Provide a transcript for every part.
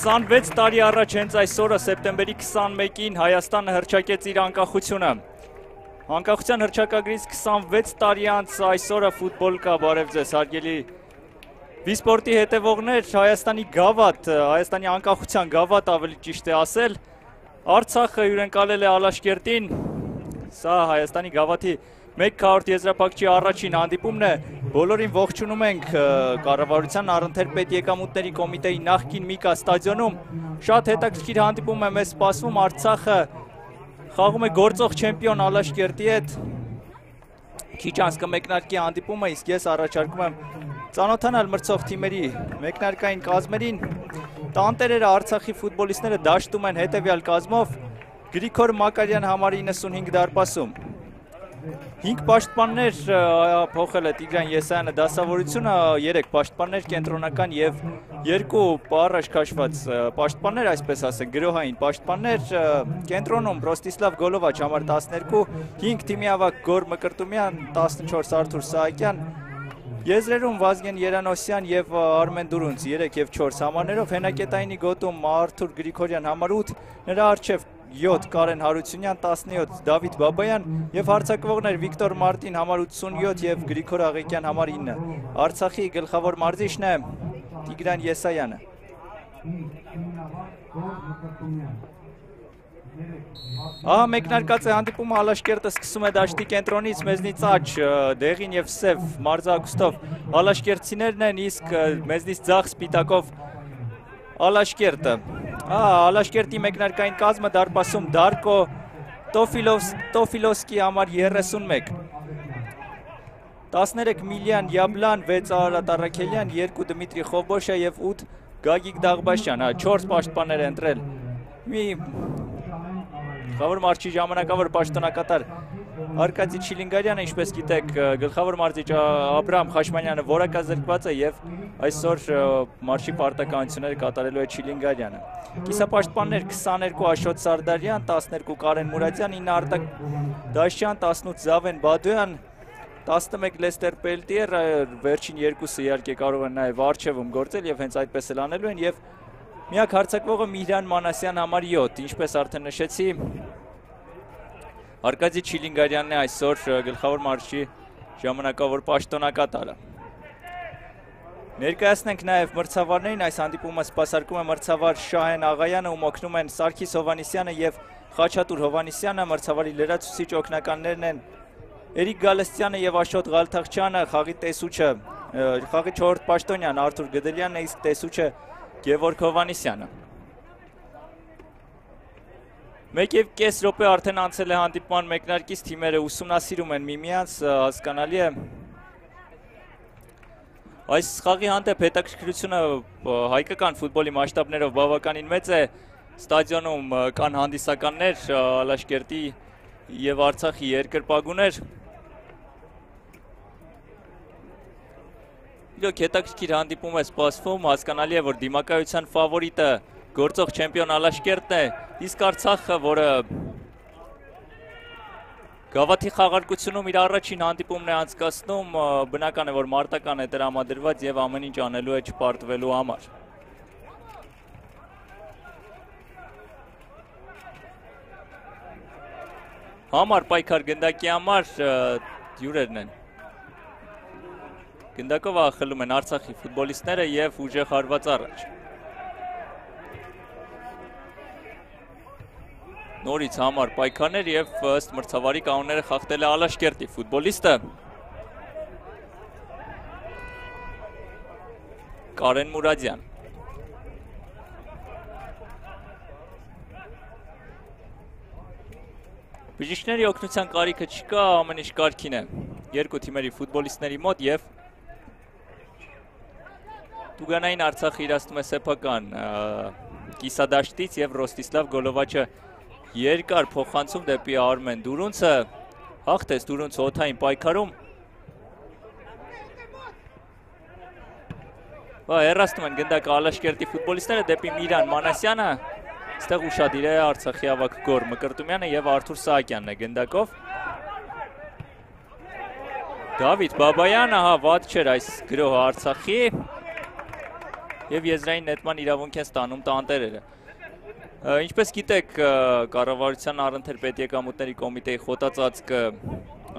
26 տարի առաջ հենց այսօրը սեպտեմբերի 21-ին Հայաստանը հռչակեց իր անկախությունը։ Անկախության հռչակագրից 26 տարի անց այսօրը ֆուտբոլ կա, բարև ձեզ հարգելի վիսպորտի հետևողներ, Հայաստանի գավաթ, Հայաստանի անկախության գավաթ ավելի ճիշտ է ասել, Արցախը հյուրընկալել է Ալաշկերտին, սա Հայաստանի գավաթի 100 եզրափակչի առաջին հանդիպումն է, բոլորին ողջունում ենք կառավարության առընթեր եկամուտների կոմիտեի նախկին Միկա ստադիոնում, շատ հետաքրքիր հանդիպում է մեզ սպասվում, Արցախը խաղում է գործող չեմպիոն Ալաշկերտի հետ, քիչ անց կմեկնարկի հանդիպումը, իսկ ես առաջարկում եմ ծանոթանալ մրցող թիմերի մեկնարկային կազմերին, տանտերերը Արցախի ֆուտբոլիստները դաշտում են հետևյալ կազմով, Գրիգոր Մակարյան համարի 95 դարպասում, 5 պաշտպաններ փոխել է Տիգրան Եսայանը դասավորությունը, 3 պաշտպաններ կենտրոնական եւ 2 առաջ քաշված պաշտպաններ, այսպես ասենք, գրոհային պաշտպաններ, կենտրոնում Ռոստիսլավ Գոլովաչ համար 12, 5 թիմի ավագ Գոր Մկրտումյան, 14 Արթուր Սահակյան, Եզրերում Վազգեն Երանոսյան եւ Արմեն Դուրունց 3 եւ 4 համարներով, հենակետայինի գոտում Արթուր Գրիգորյան համար 8, նրա առջև 7 Կարեն Հարությունյան, 17 Դավիթ Բաբայան եւ հարձակվողներ Վիկտոր Մարտին համար 87 եւ Գրիգոր Աղեկյան համար 9։ Արցախի գլխավոր մարզիչն է Տիգրան Եսայանը։ Մեկնարկած է հանդիպումը, Ալաշկերտը սկսում է դաշտի կենտրոնից, մեզնից աջ, դեղին եւ սև մարզակուստով Ալաշկերտցիներն են, իսկ մեզնից ձախ սպիտակով Ալաշկերտը։ Ալաշկերտի մեկնարկային կազմը դարպասում Դարկո Տոֆիլովսկի համար 31, 13 Միլյան Յաբլան, 6 Արարատ Առաքելյան, 2 Դմիտրի Խոբոշա եւ 8 Գագիկ Դաղբաշյան, 4 պաշտպաններ է ընտրել։ Մի գլխավոր մարզիչ ժամանակավոր պաշտոնակատար Արկադի Չիլինգարյանը, ինչպես գիտեք, գլխավոր մարզիչ Աբրահամ Խաշմանյանը որակազրկված է եւ այսօր մարշի պարտականությունները կատարելու է Չիլինգարյանը։ Կիսապաշտպաններ 22 Աշոտ Սարդարյան, 12 Կարեն Մուրադյան, 9 Արտակ Դաշյան, 18 Զավեն Բադոյան, 11 Լեստեր Պելտիեր, վերջին երկուսը իհարկե կարող են նաեւ արչեվում գործել եւ հենց այդպես էլ անելու են եւ միակ հարձակվողը Միհրան Մանասյան համար 7, ինչպես արդեն նշեցի, Արկադի Չիլինգարյանն է այսօր գլխավոր մարզչի ժամանակավոր պաշտոնակատարը։ Ներկայացնենք նաև մրցավարներին, այս հանդիպումը սպասարկում է մրցավար Շահեն Աղայանը, ում օգնում են Սարգիս Հովանիսյանը եւ Խաչատուր Հովանիսյանը, մրցավարի լրացուցիչ օգնականներն են Էրիկ Գալստյանը եւ Աշոտ Ղալթախչյանը, խաղի տեսուչը, խաղի 4-րդ պաշտոնյան Արթուր Գդելյանն է, իսկ տեսուչը Գևորգ Հովանիսյանը։ 1.5 րոպե արդեն անցել է հանդիպման մեկնարկից, թիմերը ուսումնասիրում են միմյանց, հասկանալի է։ Այս խաղի հանդեպ հետաքրքրությունը հայկական ֆուտբոլի մասշտաբներով բավականին մեծ է, ստադիոնում կան հանդիսականներ, Ալաշկերտի եւ Արցախի երկրպագուներ։ Իրոք հետաքրքիր հանդիպում է սպասվում, հասկանալի է, որ դիմակայության ֆավորիտը գործող չեմպիոն Ալաշկերտն է, իսկ Արցախը, որը գավաթի խաղարկությունում իր առաջին հանդիպումն է անցկացնում, բնական է, որ մարտական է տրամադրված եւ ամեն ինչ անելու է չպարտվելու համար։ Համար պայքար գնդակի համար հյուրերն են։ Գնդակով ախելում են Արցախի ֆուտբոլիստները եւ ուժեղ հարված առաջ։ Նորից համար պայքարներ եւ ըստ մրցավարի կանոնները խախտել է Ալաշկերտի ֆուտբոլիստը։ Կարեն Մուրադյան։ Բժիշկների օգնության կարիքը չկա, ամեն ինչ կարգին է։ Երկու թիմերի ֆուտբոլիստների մոտ եւ Տուգանային Արցախը իրացնում է սեփական կիսադաշտից եւ Ռոստիսլավ Գոլովաչը երկար փոխանցում դեպի Արմեն Դուրունցը, հաղթեց Դուրունցը օդային պայքարում։ Հեռացնում են գնդակը Ալաշկերտի ֆուտբոլիստները դեպի Միհրան Մանասյանը, այստեղ ուշադիր է Արցախի ավագ Գոր Մկրտումյանը եւ Արթուր Սահակյանն է գնդակով։ Դավիթ Բաբայանը, վատ չէր այս գրոհը Արցախի եւ եզրային նետման իրավունք են ստանում տանտերերը։ Ինչպես գիտեք, կառավարության առընթեր պետեկամուտների կոմիտեի խոտածածկը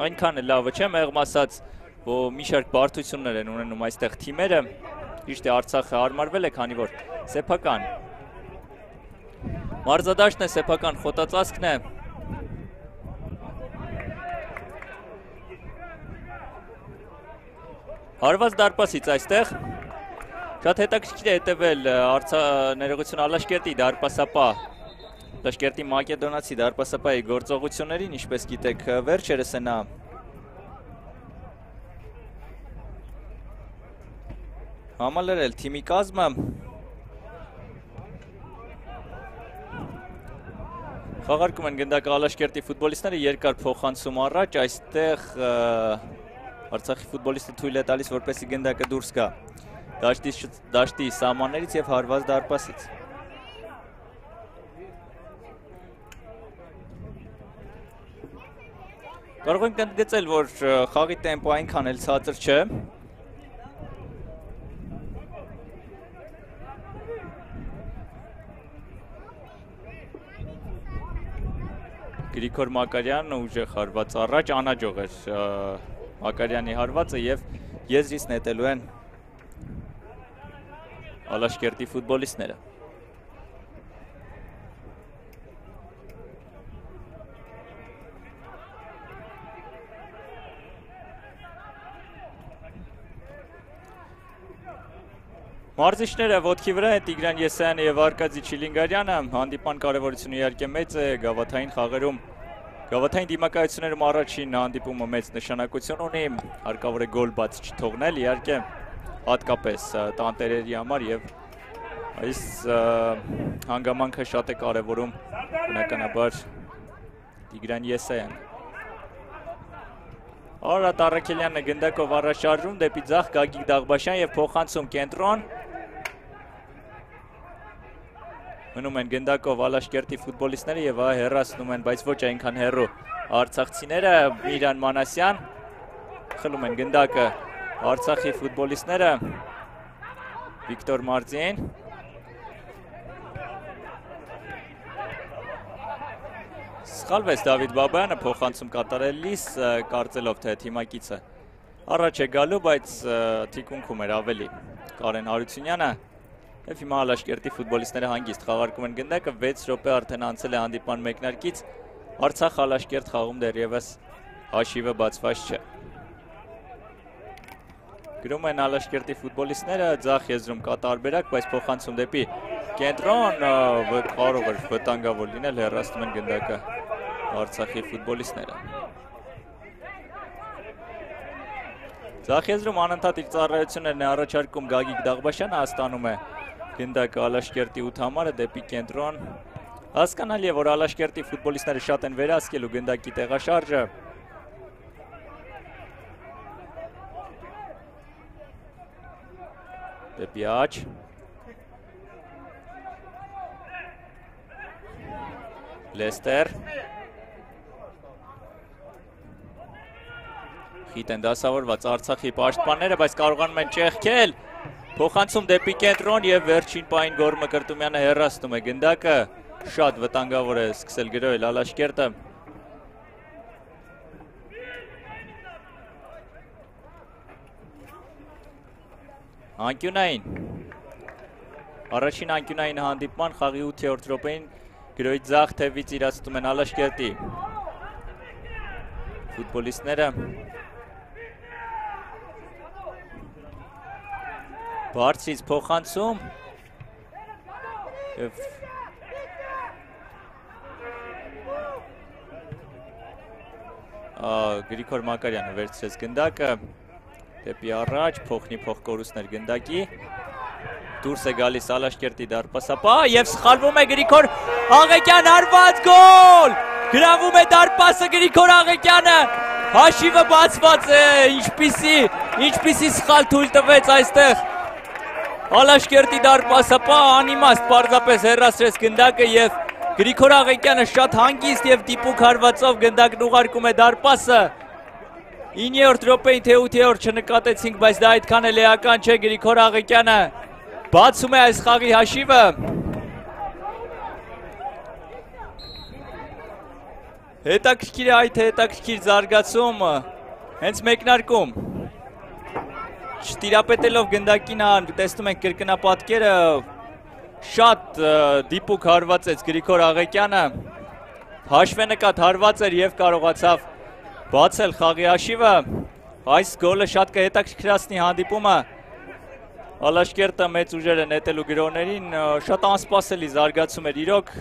այնքան է լավը չէ, մեղմ ասած, որ մի շարք բարդություններ են ունենում այստեղ թիմերը, ճիշտ է Արցախը հարմարվել է, քանի որ սեփական Մարզադաշտն է, սեփական խոտածածկն է։ Հարված դարպասից այստեղ շատ հետաքրքիր է հետևել ներողություն Ալաշկերտի դարպասապահ Ալաշկերտի մակեդոնացի դարպասապահի գործողություններին, ինչպես գիտեք, վերջերս է նա համալրել թիմի կազմը։ Խաղարկում են գնդակը Ալաշկերտի ֆուտբոլիստները, երկար փոխանցում առաջ, այստեղ Արցախի ֆուտբոլիստը թույլ է տալիս, որպեսզի գնդակը դուրս գա դաշտի սահմաններից և հարված դարպասից։ Կարող ենք ընդգծել, որ խաղի տեմպո այնքան էլ ցածր չէ։ Գրիգոր Մակարյանը ուժեղ հարված առաջ, անհաջող էր Մակարյանի հարվածը և եզրից նետելու են Ալաշկերտի ֆուտբոլիստները։ Մարզիչները ոտքի վրա են Տիգրան Եսայանը և Արկադի Չիլինգարյանը, հանդիպման կարևորությունը իհարկե մեծ է, գավաթային խաղերում Գավաթային դիմակայություններում առաջին հանդիպումը մեծ նշանակություն ունի, հարկավոր է գոլ բաց չթողնել, իհարկե հատկապես տանտերերի համար և այս հանգամանքը շատ է կարևորում բնականաբար Տիգրան Եսայանը։ Արարատ Առաքելյանն է գնդակով առաջարժում դեպի ձախ Գագիկ Դաղբաշյան և փոխանցում կենտրոն։ Մնում են գնդակով Ալաշկերտի ֆուտբոլիստները և հեռացնում են, բայց ոչ այնքան հեռու արցախցիները, Միրան Մանասյան, խլում են գնդակը Արցախի ֆուտբոլիստները, Վիկտոր Մարձին, սխալվեց Դավիթ Բաբայանը փոխանցում կատարելիս, կարծելով թե թիմակիցը առաջ է գալու, բայց թիկունքում էր ավելի Կարեն Հարությունյանը և հիմա Ալաշկերտի ֆուտբոլիստները հանգիստ խաղարկում են գնդակը, 6 րոպե արդեն անցել է հանդիպման մեկնարկից, Արցախ Ալաշկերտ խաղում դեռևս հաշիվը բացված չէ։ Գրում են Ալաշկերտի ֆուտբոլիստները, ձախ եզրում կա տարբերակ, բայց փոխանցում դեպի կենտրոն, կարող էր վտանգավոր լինել, հեռացնում են գնդակը Արցախի ֆուտբոլիստները։ Ձախ եզրում անընդհատ իր ծառայություններն է առաջարկում Գագիկ Դաղբաշյանը, ստանում է գնդակը Ալաշկերտի 8 համարը դեպի կենտրոն։ Հասկանալի է, որ Ալաշկերտի ֆուտբոլիստները շատ են վերահսկելու գնդակի տեղաշարժը։ Դեպի աջ։ Լեստեր։ Խիտ են դասավորված Արցախի պաշտպանները, բայց կարողանում են ճեղքել։ Փոխանցում դեպի կենտրոն և վերջին պահին Գոր Մկրտումյանը հեռացնում է գնդակը, շատ վտանգավոր է սկսել գրոհել Ալաշկերտը։ Անկյունային։ Առաջին անկյունային հանդիպման խաղի 8-րդ րոպեին գրոհի ձախ թևից իրացնում են Ալաշկերտի ֆուտբոլիստները։ Բարձրից փոխանցում և Գրիգոր Մակարյանը վերցրեց գնդակը դեպի առաջ, փոխնի փոխկորուստներ գնդակի, դուրս է գալիս Ալաշկերտի դարպասապահ և սխալվում է Գրիգոր Աղեկյան, հարված գոլ, գրավում է դարպասը Գրիգոր Աղեկյանը, հաշիվը բացված է, ինչպիսի սխալ թույլ տվեց այստեղ Ալաշկերտի դարպասապահ, անիմաստ պարզապես հեռացրեց գնդակը և Գրիգոր Աղեկյանը շատ հանգիստ և դիպուկ հարվածով գնդակն ուղարկում է դարպասը 9-րդ րոպեին թե 8-րդ չնկատեցինք, բայց դա այդքան էլ էական չէ, Գրիգոր Աղեկյանը բացում է այս խաղի հաշիվը։ Հետաքրքիր է այդ հետաքրքիր զարգացում հենց մեկնարկում։ Չտիրապետելով գնդակին, տեսնում ենք կրկնապատկերը, շատ դիպուկ հարվածեց Գրիգոր Աղեկյանը, հաշվենկատ հարված էր և կարողացավ բացել խաղի հաշիվը, այս գոլը շատ կհետաքրքրացնի հանդիպումը, Ալաշկերտը մեծ ուժերը նետելու գրողներին, շատ անսպասելի զարգացում էր իրոք,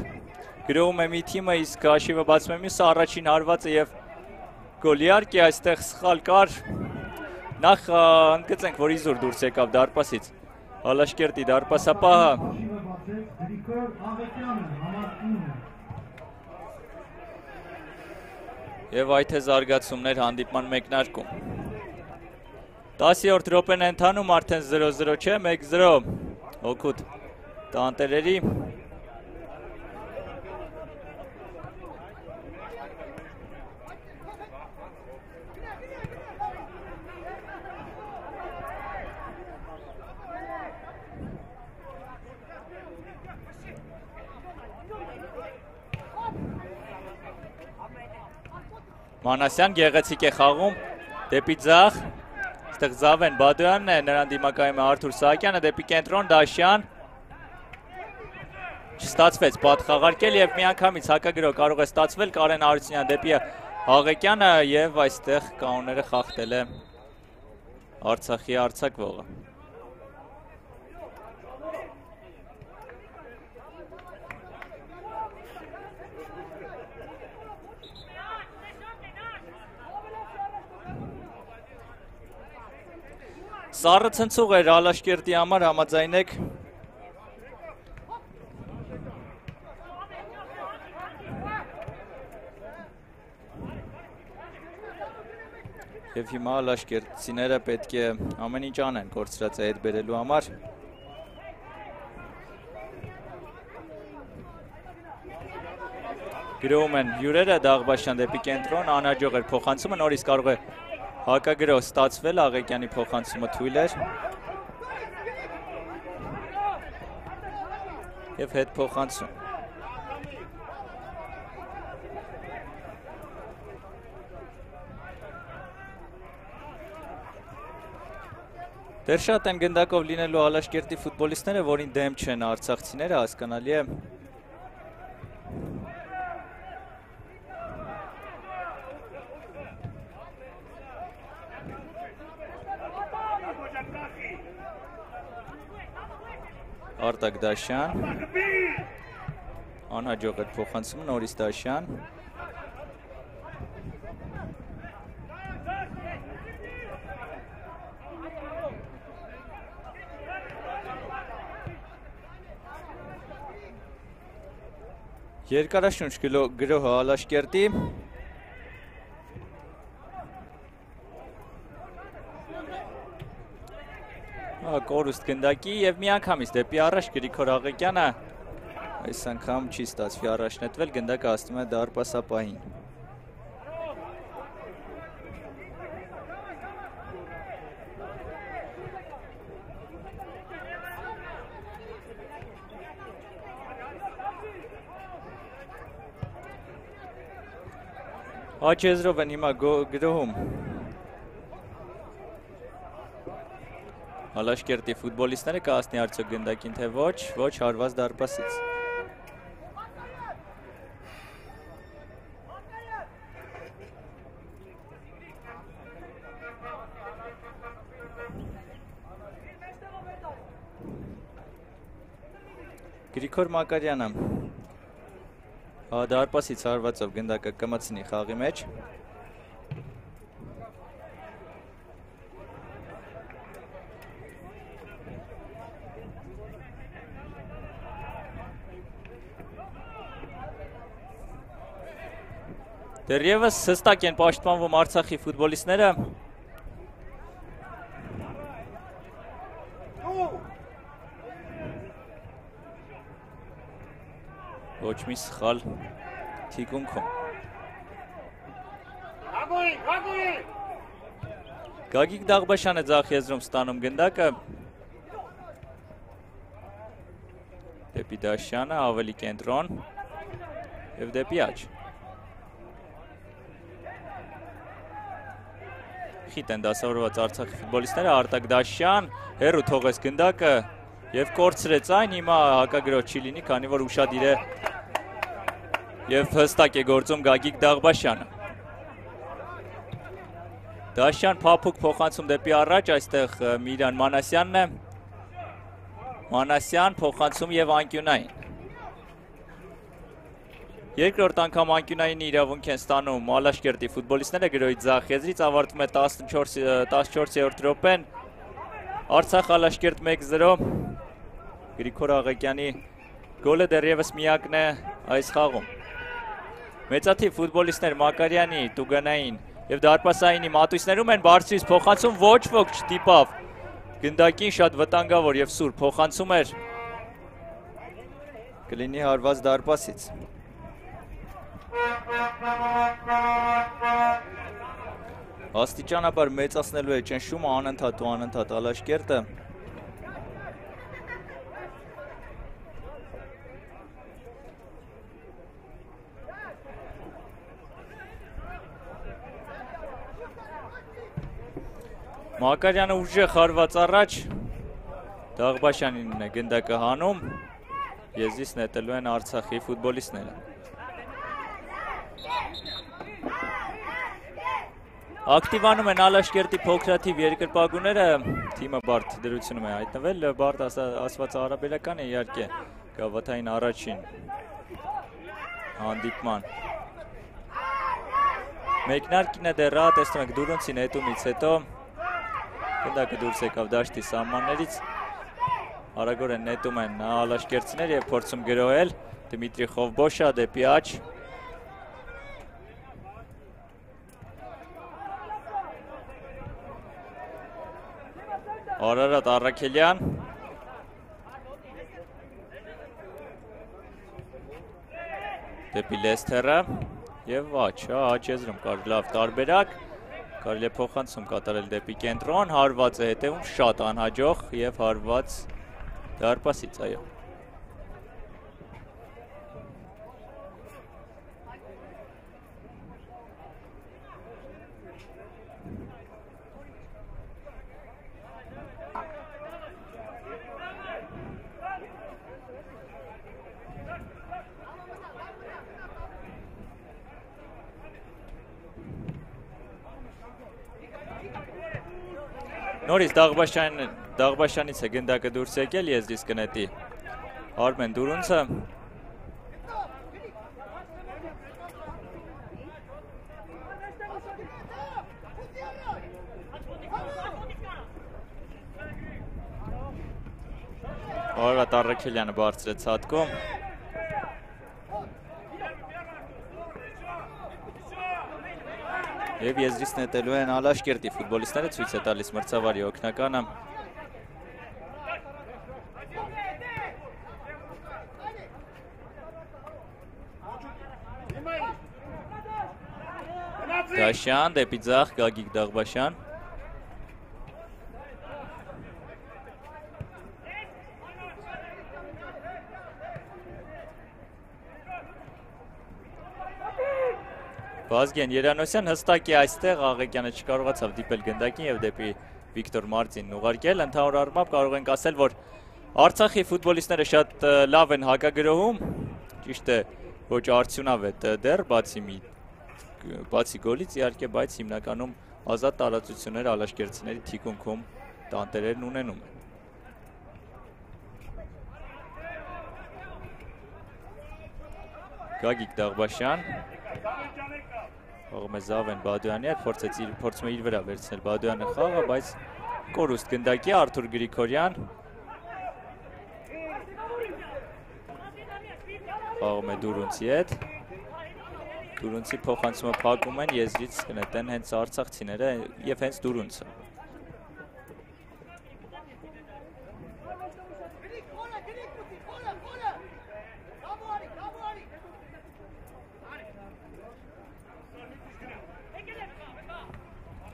գրովում է մի թիմը, իսկ հաշիվը բացում է մյուսը, առաջին հարվածը և գոլ, իհարկե այստեղ սխալ կար, նախ ընդգծենք, որ Իզուր դուրս եկավ դարպասից, Ալաշկերտի դարպասապահը, և այդ է զարգացումներ հանդիպման մեկնարկում։ 10-րդ րոպեն է ընթանում, արդեն 0-0 չէ, 1-0 օգուտ տանտերերի։ Մանասյան գեղեցիկ է խաղում, դեպի ձախ, այստեղ Զավեն Բադոյանն է, նրան դիմակայում է Արթուր Սահակյանը, դեպի կենտրոն Դաշյան, չստացվեց պատ խաղարկել և միանգամից հակագրող կարող է ստացվել Կարեն Հարությունյան դեպի Աղեկյանը և այստեղ կանոնները խախտել է Արցախի արձակվողը։ Սառը ցնցող էր Ալաշկերտի համար, համաձայնեք։ Եվ հիմա Ալաշկերտցիները պետք է ամեն ինչ անեն կորցրածը հետ բերելու համար։ Գրովում են հյուրերը, Դաղբաշյան դեպի կենտրոն, անհաջող էր փոխանցումը, նորից կարող է հակագրող ստացվել, Աղեկյանի փոխանցումը թույլ էր և հետ փոխանցում։ Դեռ շատ են գնդակով լինելու Ալաշկերտի ֆուտբոլիստները, որին դեմ չեն արցախցիները, հասկանալի է։ Արտակ Դաշյան, անհաջող էր փոխանցումը, նորից Դաշյան, երկարաշունչ գրոհը Ալաշկերտի, կորուստ գնդակի և միանգամից դեպի առաջ Գրիգոր Աղեկյանը այս անգամ չի ստացվի առաջնետվել, գնդակը հասնում է դարպասապահին։ Աջ եզրով են հիմա գրոհում Ալաշկերտի ֆուտբոլիստները, կհասնի արդյոք գնդակին, թե ոչ հարված դարպասից։ Գրիգոր Մակարյանը դարպասից հարվածով գնդակը կմցնի խաղի մեջ։ Դեռևս հստակ են պաշտպանվում Արցախի ֆուտբոլիստները։ Ոչ մի սխալ թիկունքում։ Գագիկ Դաղբաշյանը ձախ եզրում ստանում գնդակը։ Դեպի Դաշյանը, ավելի կենտրոն և դեպի աջ։ Խիտ են դասավորված Արցախի ֆուտբոլիստները, Արտակ Դաշյան, հեռու թողեց գնդակը, Եվ կորցրեց այն, հիմա հակագրոհ չի լինի, քանի որ ուշադիր է եւ հստակ է գործում Գագիկ Դաղբաշյանը։ Դաշյան փափուկ փոխանցում դեպի առաջ, այստեղ Միրան Մանասյանն է։ Մանասյան փոխանցում եւ անկյունային։ Երկրորդ անգամ անկյունային իրավունք են ստանում Ալաշկերտի ֆուտբոլիստները գրոհի ձախ եզրից, ավարտվում է 14-րդ րոպեն։ Արցախ Ալաշկերտ 1-0։ Գրիգոր Աղեկյանի գոլը դեռևս միակն է այս խաղում։ Մեծաթիվ ֆուտբոլիստներ Մակարյանի, Տուգանային եւ դարպասայինի մատույցներում են, բարձրից փոխանցում ոչ ոք չտիպավ գնդակին, շատ վտանգավոր եւ սուր փոխանցում էր, կլինի հարված դարպասից։ Աստիճանաբար մեծացնելու է ճնշումը անընդհատ ու անընդհատ Ալաշկերտը։ Մակարյանը ուժեղ հարված առաջ, Դաղբաշյանին է գնդակը հանում, եզրից նետելու են Արցախի ֆուտբոլիստները։ Ակտիվանում են Ալաշկերտի փոքրաթիվ երկրպագուները, թիմը բարդ դրությունում է հայտնվել, բարդ ասված հարաբերական է իհարկե գավաթային առաջին հանդիպման։ Մեկնարկին է դեռ, տեսնում եք Դուրունցի նետումից հետո, գնդակը դուրս եկավ դաշտի սահմաններից, արագորեն նետում են ալաշկերտցիներ եւ փորձում գրոհել Դմիտրի Խովբոշա դեպի աջ։ Արարատ Առաքելյան դեպի Լեսթերը եւ աջ եզրում կար լավ տարբերակ, կարելի է փոխանցում կատարել դեպի կենտրոն, հարված է հետևում շատ անհաջող եւ հարված դարպասից, այո։ Նորից Դաղբաշյանից է գնդակը դուրս եկել, եզրից կնետի Արմեն Դուրունցը։ Արարատ Առաքելյանը բարձրեց հատկում։ Եվ եզրից նետելու են Ալաշկերտի ֆուտբոլիստները, ցույց է տալիս մրցավարի օգնականը։ Դաշյան դեպի ձախ Գագիկ Դաղբաշյան։ Վազգեն Երանոսյան հստակ է այստեղ, Աղեկյանը չկարողացավ դիպել գնդակին եւ դեպի Վիկտոր Մարտինն ուղարկել, ընդհանուր առմամբ կարող ենք ասել, որ Արցախի ֆուտբոլիստները շատ լավ են հակագրոհում, ճիշտ է, ոչ արդյունավետ դեռ, բացի գոլից իհարկե, բայց հիմնականում ազատ տարածություններ ալաշկերտցիների թիկունքում տանտերերն ունենում են։ Գագիկ Դաղբաշյան Ողում է Զավեն Բադոյանի հետ, փորձում է իր վրա վերցնել Բադոյանը խաղը, բայց կորուստ գնդակի Արթուր Գրիգորյան խաղում է Դուրունցի հետ, Դուրունցի փոխանցումը փակում են, եզրից կնետեն հենց արցախցիները եւ հենց Դուրունցը։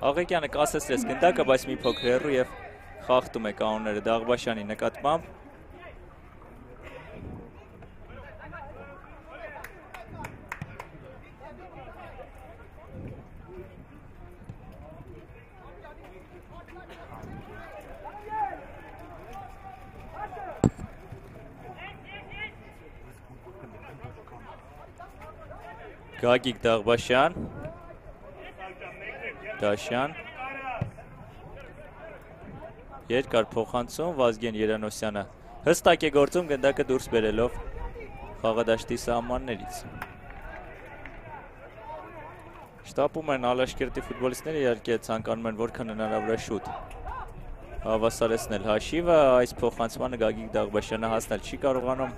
Աղեկյանը կասեցրեց գնդակը, բայց մի փոքր հեռու եւ խախտում է կանոնները Դաղբաշյանի նկատմամբ։ Գագիկ Դաղբաշյան, Դաշյան, երկար փոխանցում Վազգեն Երանոսյանը հստակ է գործում գնդակը դուրս բերելով խաղադաշտի սահմաններից։ Շտապում են Ալաշկերտի ֆուտբոլիստները, իհարկե ցանկանում են որքան հնարավոր է շուտ հավասարեցնել հաշիվը, այս փոխանցմանը Գագիկ Դաղբաշյանը հասնել չի կարողանում։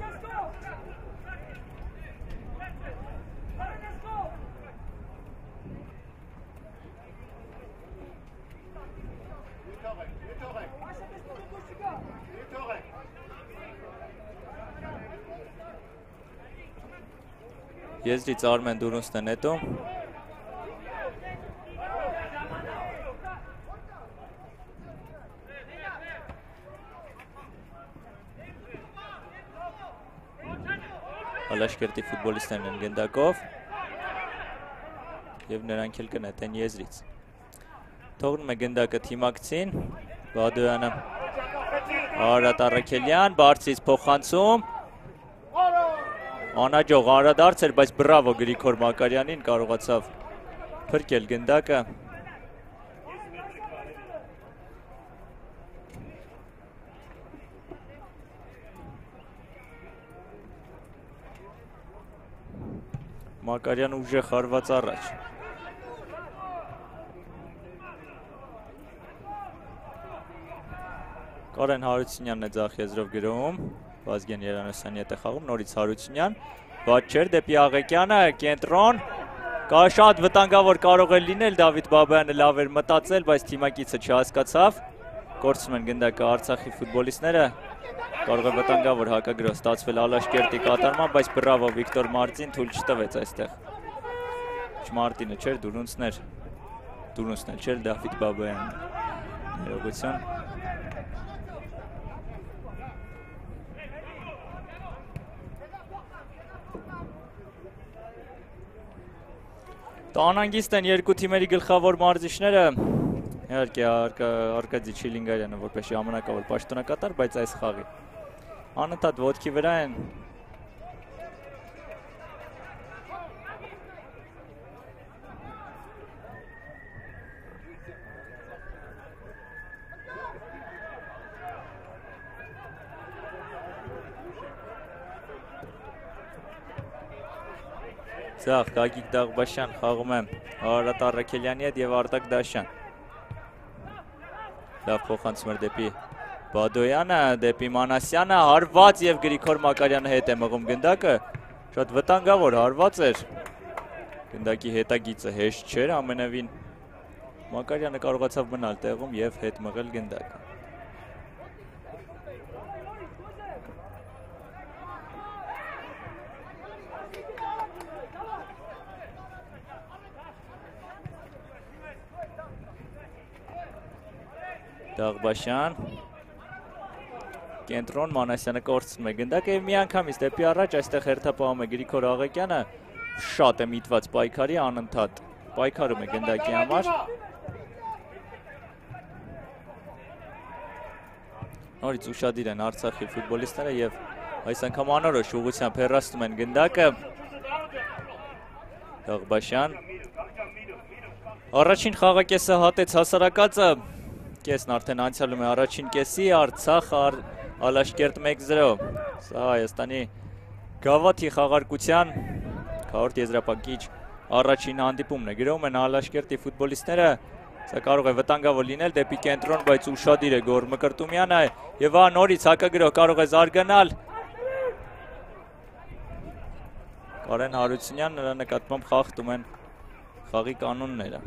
Եզրից Արմեն Դուրունցն է նետում։ Ալաշկերտի ֆուտբոլիստներն են գնդակով և նրանք էլ կնետեն եզրից։ Թողնում է գնդակը թիմակցին, Բադոյանը, Արարատ Առաքելյան, բարձրից փոխանցում, անհաջող անդրադարձ էր, բայց բրավո Գրիգոր Մակարյանին կարողացավ փրկել գնդակը։ Մակարյան ուժեղ հարված առաջ։ Կարեն Հարությունյանն է ձախ եզրով գրում, Վազգեն Երանոսյանի հետ է խաղում, նորից Հարությունյան, վատ չէր դեպի Աղեկյանը, կենտրոն, շատ վտանգավոր կարող է լինել, Դավիթ Բաբայանը լավ էր մտածել, բայց թիմակիցը չհասկացավ, կորցնում են գնդակը Արցախի ֆուտբոլիստները, կարող է վտանգավոր հակագրոհ ստացվել Ալաշկերտի կատարման, բայց բրավո Վիկտոր Մարտին թույլ չտվեց այստեղ։ Մարտինը չէր, Դուրունցն էլ չէր, Դավիթ Բաբայանն։ Ներողություն։ Անհանգիստ են երկու թիմերի գլխավոր մարզիչները, իհարկե Արկադի Չիլինգարյանը որպես ժամանակավոր պաշտոնակատար, բայց այս խաղի անընդհատ ոտքի վրա են։ Ձախ Գագիկ Դաղբաշյան խաղում է Արարատ Առաքելյանի հետ և Արտակ Դաշյան։ Լավ փոխանցում էր դեպի Բադոյանը, դեպի Մանասյանը, հարված և Գրիգոր Մակարյանը հետ է մղում գնդակը, շատ վտանգավոր հարված էր, գնդակի հետագիծը հեշտ չէր ամենևին, Մակարյանը կարողացավ մնալ տեղում և հետ մղել գնդակը։ Դաղբաշյան, կենտրոն, Մանասյանը կորցնում է գնդակը և միանգամից դեպի առաջ այստեղ հերթապահում է Գրիգոր Աղեկյանը, շատ է միտված պայքարի, անընդհատ պայքարում է գնդակի համար։ Նորից ուշադիր են Արցախի ֆուտբոլիստները և այս անգամ անորոշ ուղղությամբ հեռացնում են գնդակը։ Դաղբաշյան, առաջին խաղակեսը հատեց հասարակածը, կեսն արդեն անցյալում է առաջին կեսի, Արցախ Ալաշկերտ 1-0, սա Հայաստանի գավաթի խաղարկության քառորդ եզրափակիչ առաջին հանդիպումն է, գրում են Ալաշկերտի ֆուտբոլիստները, սա կարող է վտանգավոր լինել դեպի կենտրոն, բայց ուշադիր է Գոռ Մկրտումյանը և նորից հակագրոհ կարող է զարգանալ Կարեն Հարությունյան, նրա նկատմամբ խախտում են խաղի կանոնները։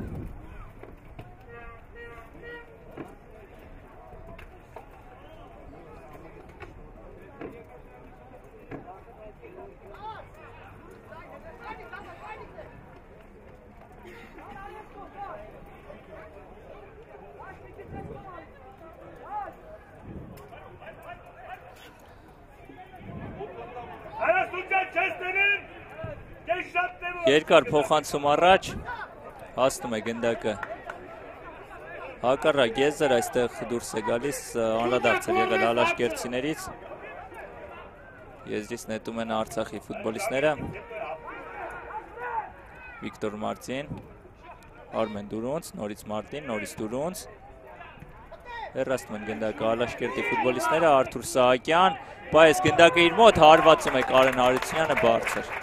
Երկար փոխանցում առաջ, հասնում է գնդակը հակառակ եզր, այստեղ դուրս է գալիս, անդրադարձ է եղել Ալաշկերտցիներից, եզրից նետում են Արցախի ֆուտբոլիստները, Վիկտոր Մարտին, Արմեն Դուրունց, նորից Մարտին, նորից Դուրունց, հեռացնում են գնդակը Ալաշկերտի ֆուտբոլիստները, Արթուր Սահակյան, բայց գնդակը իր մոտ հարվածում է Կարեն Հարությունյանը բարձր։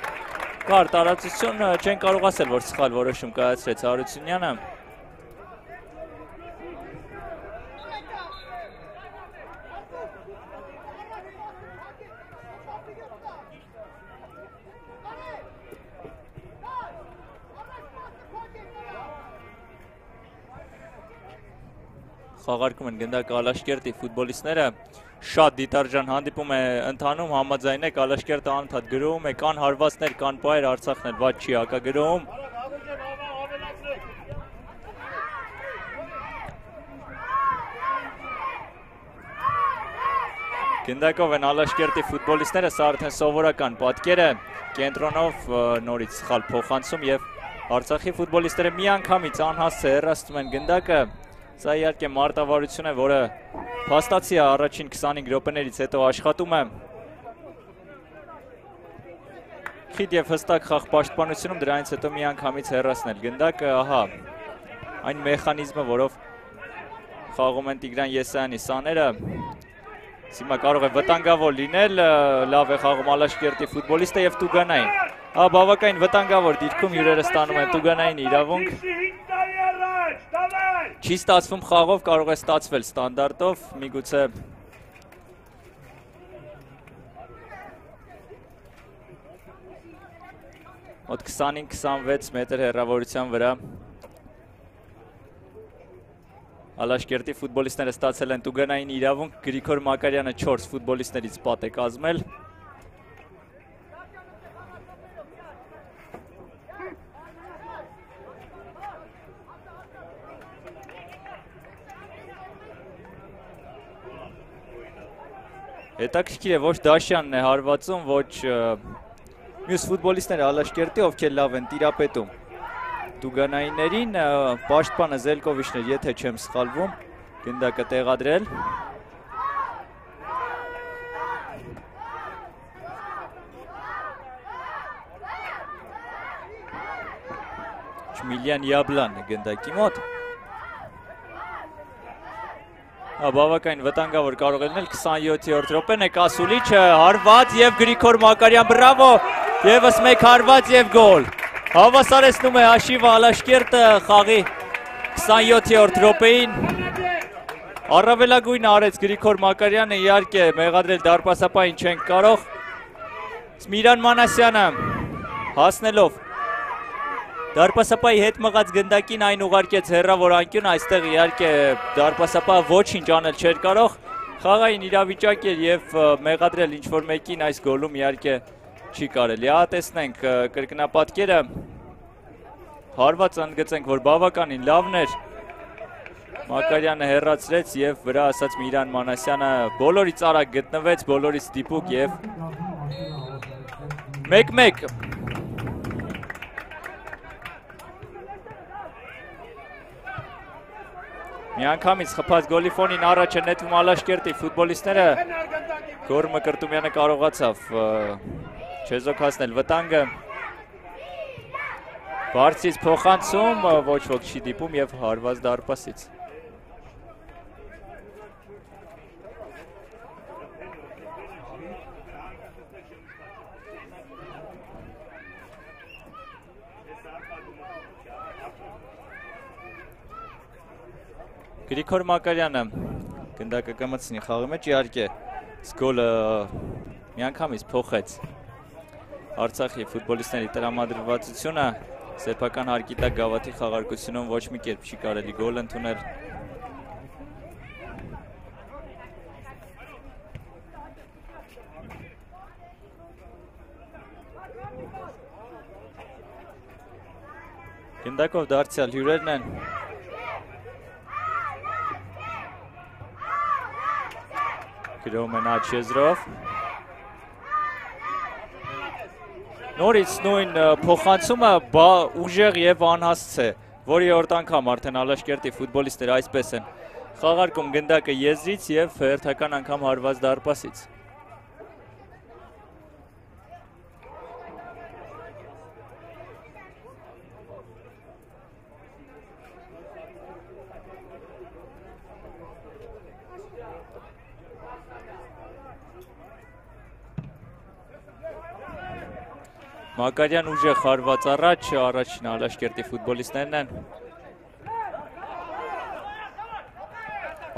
Կար տարածություն, չեն կարող ասել, որ սխալ որոշում կայացրեց Հարությունյանը։ Խաղարկում են գնդակը Ալաշկերտի ֆուտբոլիստները, շատ դիտարժան հանդիպում է ընթանում, համաձայնեք Ալաշկերտը անընդհատ գրոհում է, կան հարվածներ, կան պայեր, Արցախն էլ ված չի հակագրոհում։ Գնդակով են Ալաշկերտի ֆուտբոլիստները, սա արդեն սովորական պատկեր է, կենտրոնով նորից սխալ փոխանցում եւ Արցախի ֆուտբոլիստները միանգամից անհասցե հեռացնում են գնդակը։ Սա իհարկե մարտավարություն է, որը փաստացի է առաջին 25 րոպեներից հետո աշխատում է։ Խիտ եւ հստակ խաղ պաշտպանությունում դրանից հետո միանգամից հեռացնել գնդակը, ահա այն մեխանիզմը, որով խաղում են Տիգրան Եսայանի սաները։ Հիմա կարող է վտանգավոր լինել, լավ է խաղում Ալաշկերտի ֆուտբոլիստը եւ Տուգանային։ Բավականին վտանգավոր դիրքում հյուրերը ստանում են Տուգանային իրավունք։ Չի ստացվում խաղով, կարող է ստացվել ստանդարտով, միգուցե մոտ 25-26 մետր հեռավորության վրա Ալաշկերտի ֆուտբոլիստները ստացել են Տուգանային իրավունք, Գրիգոր Մակարյանը 4 ֆուտբոլիստներից պատ է կազմել։ Հետաքրքիր է, ոչ Դաշյանն է հարվածում, ոչ մյուս ֆուտբոլիստները Ալաշկերտի, ովքեր լավ են տիրապետում Տուգանայիներին, պաշտպանը Զելկովիչն էր, եթե չեմ սխալվում, գնդակը տեղադրել։ Չմիլյան Յաբլան է գնդակի մոտ։ Բավականին վտանգավոր կարող է լինել 27-րդ րոպեն է Կասուլիչը, հարված եւ Գրիգոր Մակարյան, բրավո, եւս մեկ հարված եւ գոլ։ Հավասարեցնում է հաշիվը Ալաշկերտը խաղի 27-րդ րոպեին։ Առավելագույնը արեց Գրիգոր Մակարյանը, իհարկե մեղադրել դարպասապային չենք կարող։ Միրան Մանասյանը հասնելով դարպասապայի հետ մղած գնդակին այն ուղարկեց հեռավոր անկյուն, այստեղ իհարկե դարպասապա ոչինչ անել չէր կարող, խաղային իրավիճակ էր եւ մեղադրել ինչ-որ մեկին այս գոլում իհարկե չի կարելի։ Տեսնենք կրկնապատկերը, հարված ընդգծենք, որ բավականին լավն էր, Մակարյանը հեռացրեց եւ վրա ասած Միրան Մանասյանը բոլորից արագ գտնվեց, բոլորից դիպուկ եւ 1-1 Միանգամից խփած գոլի ֆոնին առաջ է նետվում Ալաշկերտի ֆուտբոլիստները, Գոր Մկրտումյանը կարողացավ չեզոք հասնել վտանգը, բարձից փոխանցում, ոչ ոք չի դիպում եւ հարված դարպասից։ Գրիգոր Մակարյանը գնդակը կմտցնի խաղի մեջ, իհարկե գոլը միանգամից փոխեց Արցախի ֆուտբոլիստների տրամադրվածությունը, սեփական հարկի տակ գավաթի խաղարկությունում ոչ մի կերպ չի կարելի գոլ ընդունել։ Գնդակով դարձյալ հյուրերն են։ Գրոհում են աջ եզրով։ Նորից նույն փոխանցումը ուժեղ եւ անհասց է, որի օրդ անգամ արդեն Ալաշկերտի ֆուտբոլիստները այսպես են խաղարկում գնդակը եզրից եւ հերթական անգամ հարված դարպասից։ Մակարյան ուժեղ հարված առաջ, առաջին Ալաշկերտի ֆուտբոլիստներն են։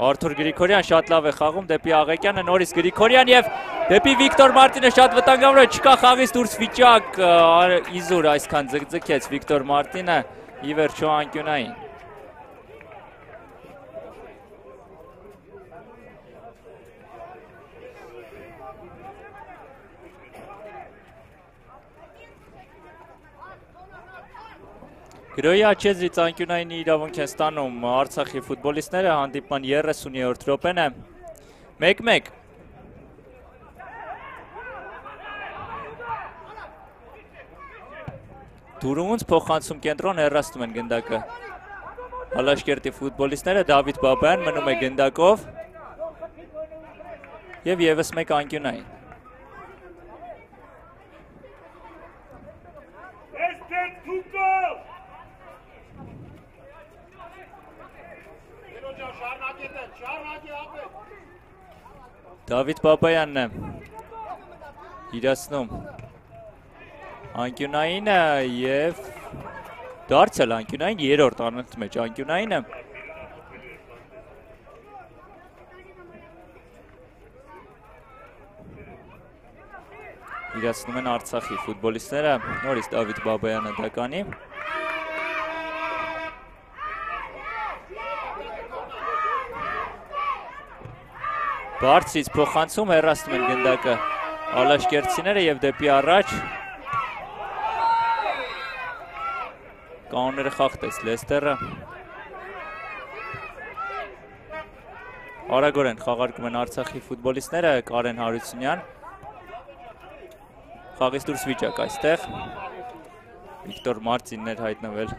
Արթուր Գրիգորյան շատ լավ է խաղում դեպի Աղեկյանը, նորից Գրիգորյան եւ դեպի Վիկտոր Մարտինը շատ վտանգավոր է, չկա խաղից դուրս վիճակ, իզուր այսքան ձգձգեց Վիկտոր Մարտինը, ի վերջո անկյունային։ Գրոյի աչեզրից անկյունայինի իրավունք են ստանում Արցախի ֆուտբոլիստները, հանդիպման 30-րդ րոպեն է, 1-1։ Դուրունց փոխանցում կենտրոն հեռացնում են գնդակը Ալաշկերտի ֆուտբոլիստները, Դավիթ Բաբայան մնում է գնդակով և ևս մեկ անկյունային։ Դավիթ Բաբայանն է իրացնում անկյունայինը և դարձել անկյունային, երրորդ անընդհատ մեջ անկյունայինը։ Իրացնում են Արցախի ֆուտբոլիստները, նորից Դավիթ Բաբայանը դականի։ Բարձից փոխանցում հեռացնում են գնդակը Ալաշկերտցիները և դեպի առաջ կանոնները խախտեց Լեստերը։ Արագորեն խաղարկում են Արցախի ֆուտբոլիստները, Կարեն Հարությունյան։ Խաղից դուրս վիճակ այստեղ։ Վիկտոր Մարտինն էր հայտնվել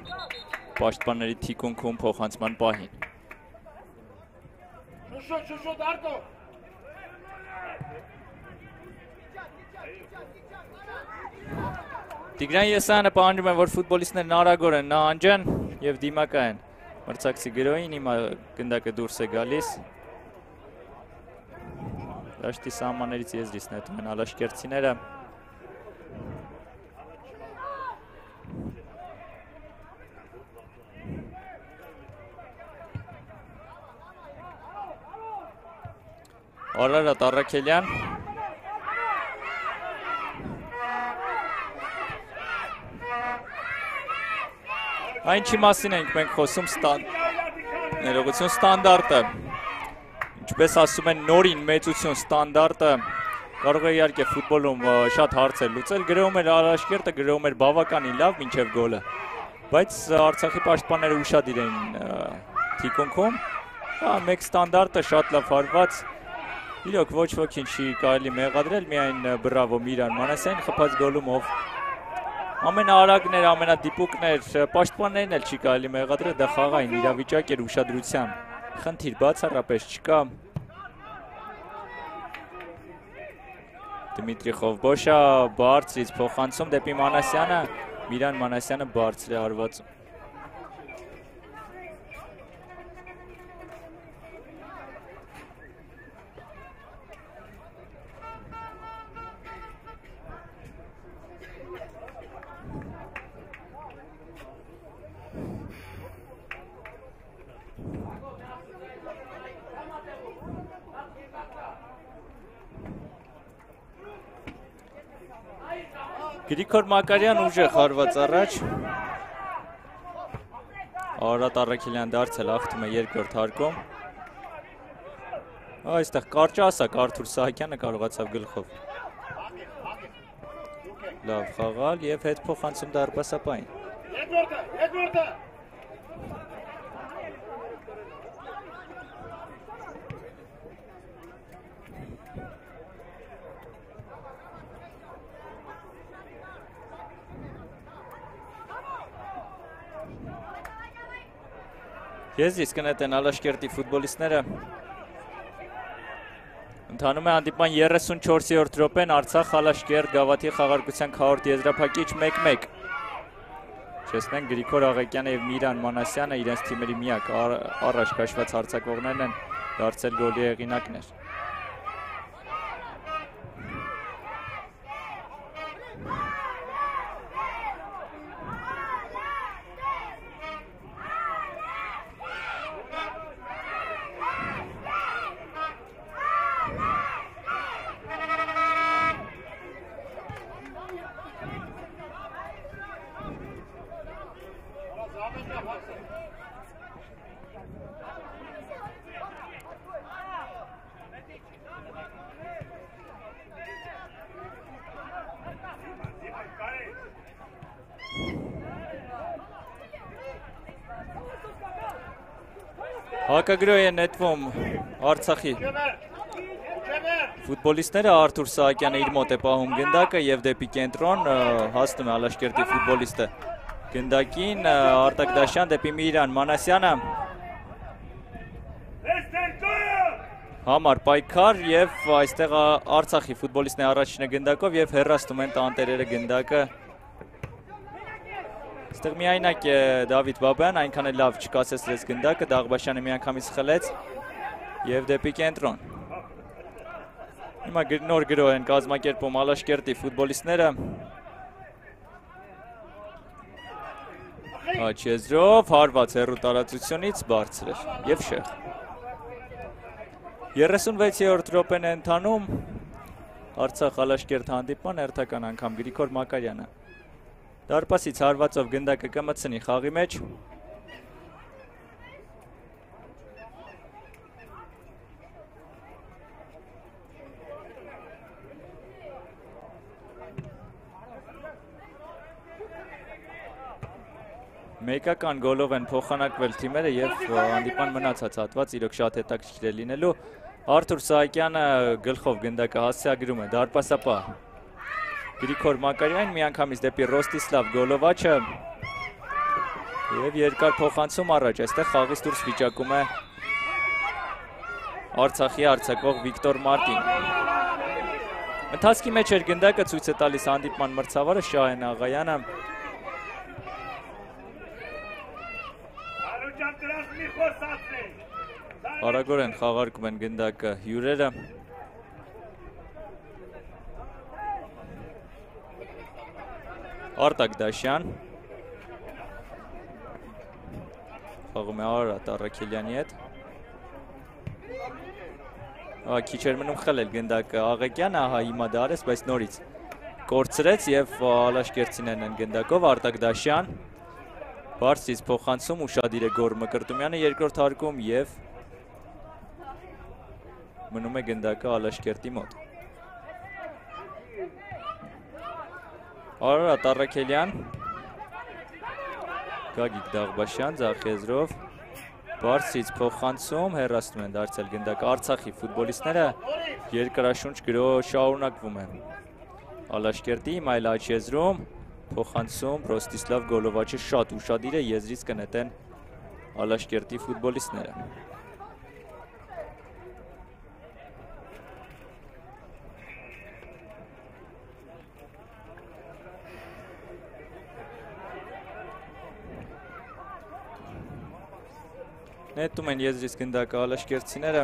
պաշտպանների թիկունքում փոխանցման պահին։ Տիգրան Եսայանը պահանջում է, որ ֆուտբոլիստներն արագորեն նահանջեն և դիմակայեն մրցակցի գրոյին, հիմա գնդակը դուրս է գալիս։ Դաշտի սահմաններից եզրից նետում են ալաշկերտցիները։ Արարատ Առաքելյան։ Այնչի մասին ենք մենք խոսում ներողություն ստանդարտը, ինչպես ասում են նորին մեծություն ստանդարտը, կարող է իհարկե ֆուտբոլում շատ հարցեր լուծել, գրոում էր Ալաշկերտը, գրոում էր բավականին լավ մինչև գոլը, բայց Արցախի պաշտպանները ուշադիր էին թիկունքում, մեկ ստանդարտը շատ լավ հարված, իրոք ոչ ոքին չի կարելի մեղադրել, միայն բրավո Միրան Մանասյան խփած գոլում, ով ամենաարագներ, ամենադիպուկներ, պաշտպաններն էլ չի կարելի մեղադրել, դա խաղային իրավիճակ էր, ուշադրության խնդիր բացառապես չկա։ Դմիտրի Խովբոշա բարձրից փոխանցում դեպի Մանասյանը, Միրան Մանասյանը բարձր է հարվածում։ Գրիգոր Մակարյան ուժեղ հարված առաջ, Արարատ Առաքելյան դարձել ախտում է երկրորդ հարկում, այստեղ կարճ ասակ Արթուր Սահակյանը կարողացավ գլխով լավ խաղալ և հետ փոխանցում դարպասապային։ Եզրից կնետեն Ալաշկերտի ֆուտբոլիստները։ Ընթանում է հանդիպման 34-րդ րոպեն, Արցախ Ալաշկերտ Գավաթի խաղարկության քառորդ եզրափակիչ 1-1։ Չեսնենք Գրիգոր Աղեկյանը և Միրան Մանասյանը իրենց թիմերի միակ առաջ քաշված հարձակվողներն են դարձել գոլի հեղինակներ։ Հակագրոյ է նետվում Արցախի ֆուտբոլիստները, Արթուր Սահակյանը իր մոտ է պահում գնդակը և դեպի կենտրոն հասնում է Ալաշկերտի ֆուտբոլիստը գնդակին, Արտակ Դաշյան դեպի Միրան Մանասյանը համար պայքար և այստեղ Արցախի ֆուտբոլիստն է առաջինը գնդակով և հեռացնում են տանտերերը գնդակը Այստեղ միայնակ է Դավիթ Բաբայան, այնքան է լավ չկասեցրեց գնդակը, Դաղբաշյանը միանգամից խլեց և դեպի կենտրոն Հիմա նոր գրոհ են կազմակերպում Ալաշկերտի ֆուտբոլիստները Աչեզրով, հարված հեռու տարածությունից բարձր էր և շեղ 36-րդ րոպեն է ընթանում Արցախ Ալաշկերտ հանդիպման հերթական անգամ Գրիգոր Մակարյանը Դարպասից հարվածով գնդակը կմտցնի խաղի մեջ Մեկական գոլով են փոխանակվել թիմերը և հանդիպան մնացած հատված իրոք շատ հետաքրքիր է լինելու Արթուր Սահակյանը գլխով գնդակը հասցեագրում է դարպասապահ Գրիգոր Մակարյան միանգամից դեպի Ռոստիսլավ Գոլովաչը և երկար փոխանցում առաջ, այստեղ խաղից դուրս վիճակում է Արցախի արձակող Վիկտոր Մարտին Ընթացքի մեջ էր գնդակը ցույց է տալիս հանդիպման մրցավարը Շահեն Աղայանը Արագորեն խաղարկում են գնդակը հյուրերը Արտակ Դաշյան խաղում է Արարատ Առաքելյանի հետ քիչ էր մնում խլել գնդակը Աղեկյանը, ահա հիմա դարես, բայց նորից կորցրեց և Ալաշկերտցիներն են գնդակով Արտակ Դաշյան բարձրից փոխանցում ուշադիր է Գոր Մկրտումյանը երկրորդ հարկում և մնում է գնդակը Ալաշկերտի մոտ Արարատ Առաքելյան Գագիկ Դաղբաշյան ձախեզրով բարձրից փոխանցում հեռացնում են դարձել գնդակը Արցախի ֆուտբոլիստները երկրաշունչ գրոհ շարունակվում է Ալաշկերտի այլ աչեզրում փոխանցում Ռոստիսլավ Գոլովաչը շատ ուշադիր է եզրից կնետեն Ալաշկերտի ֆուտբոլիստները Նետում են եզրից գնդակը Ալաշկերտցիները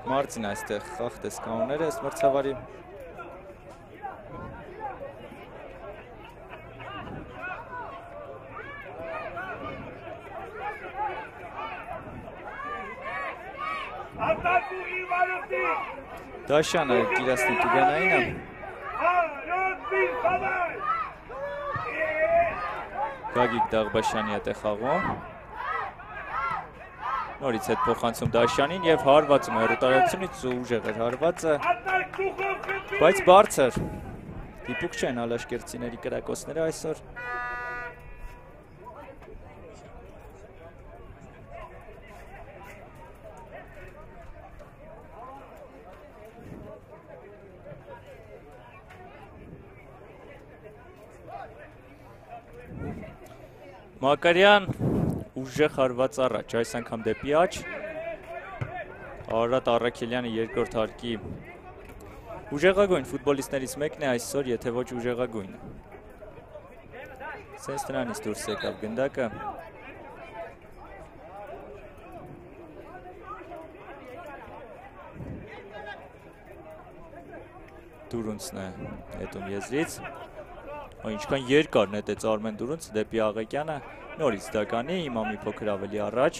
Մարտին այստեղ խախտեց կանոնները ըստ մրցավարի Դաշյանը կիրասնի Տուգանայինը Գագիկ Դաղբաշյանի հետ է խաղում Նորից հետ փոխանցում Դաշյանին և հարվածում հեռուտարությունից ուժեղ էր հարվածը բայց բարձր դիպուկ չեն Ալաշկերտցիների կրակոցները այսօր Մակարյան ուժեղ հարված առաջ, այս անգամ դեպի աչ Արարատ Առաքելյանը երկրորդ հարկի ուժեղագույն ֆուտբոլիստներից մեկն է այսօր, եթե ոչ ուժեղագույնը Սենց նրանից դուրս եկավ գնդակը Դուրունցն է նետում եզրից Ինչքան երկար նետեց Արմեն Դուրունց դեպի Աղեկյանը նորից դականի, հիմա մի փոքր ավելի առաջ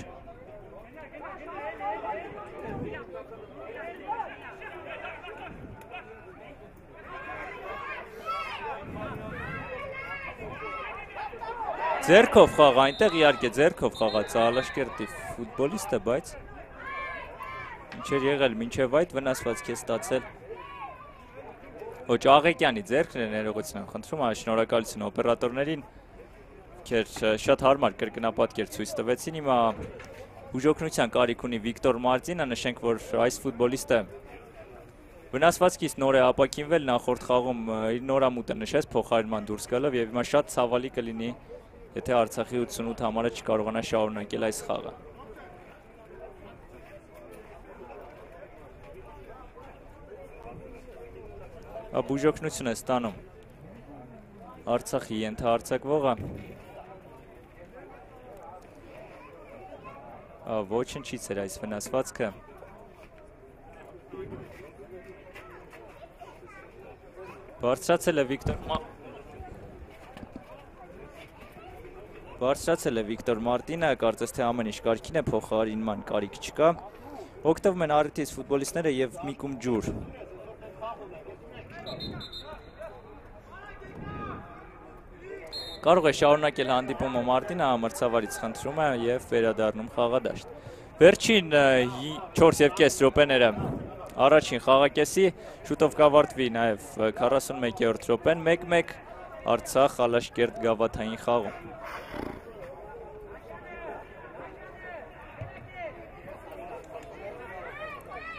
Ձերքով խաղ այնտեղ իհարկե ձերքով խաղաց Ալաշկերտի ֆուտբոլիստը, բայց ինչ էր եղել մինչև այդ վնասվածք է ստացել Ոչ Աղեկյանի ձեռքն է ներողություն եմ խնդրում, շնորհակալություն օպերատորներին, ովքեր շատ հարմար կրկնապատկեր ցույց տվեցին։ Հիմա բուժօգնության կարիք ունի Վիկտոր Մարտինը, նշենք, որ այս ֆուտբոլիստը վնասվածքից նոր է ապաքինվել, նախորդ խաղում իր նորամուտը նշեց փոխարինման դուրս գալով եւ հիմա շատ ցավալի կլինի, եթե Արցախի 88 համարը չկարողանա շարունակել այս խաղը։ Բուժօգնություն է ստանում Արցախի ենթահարձակվողը։ Ոչնչից էր այս վնասվածքը։ Բարձրացել է Վիկտոր Մարտինը, կարծես թե ամեն ինչ կարգին է, փոխարինման կարիք չկա։ Օգտվում են առիթից ֆուտբոլիստները եւ մի կում ջուր։ Կարող է շարունակել հանդիպումը Մարտինը, մրցավարից խնդրում է եւ վերադառնում խաղադաշտ։ Վերջին 4.5 րոպեները առաջին խաղակեսի, շուտով կավարտվի նաեւ 41-րդ րոպեն, 1-1 Արցախ Ալաշկերտ գավաթային խաղում։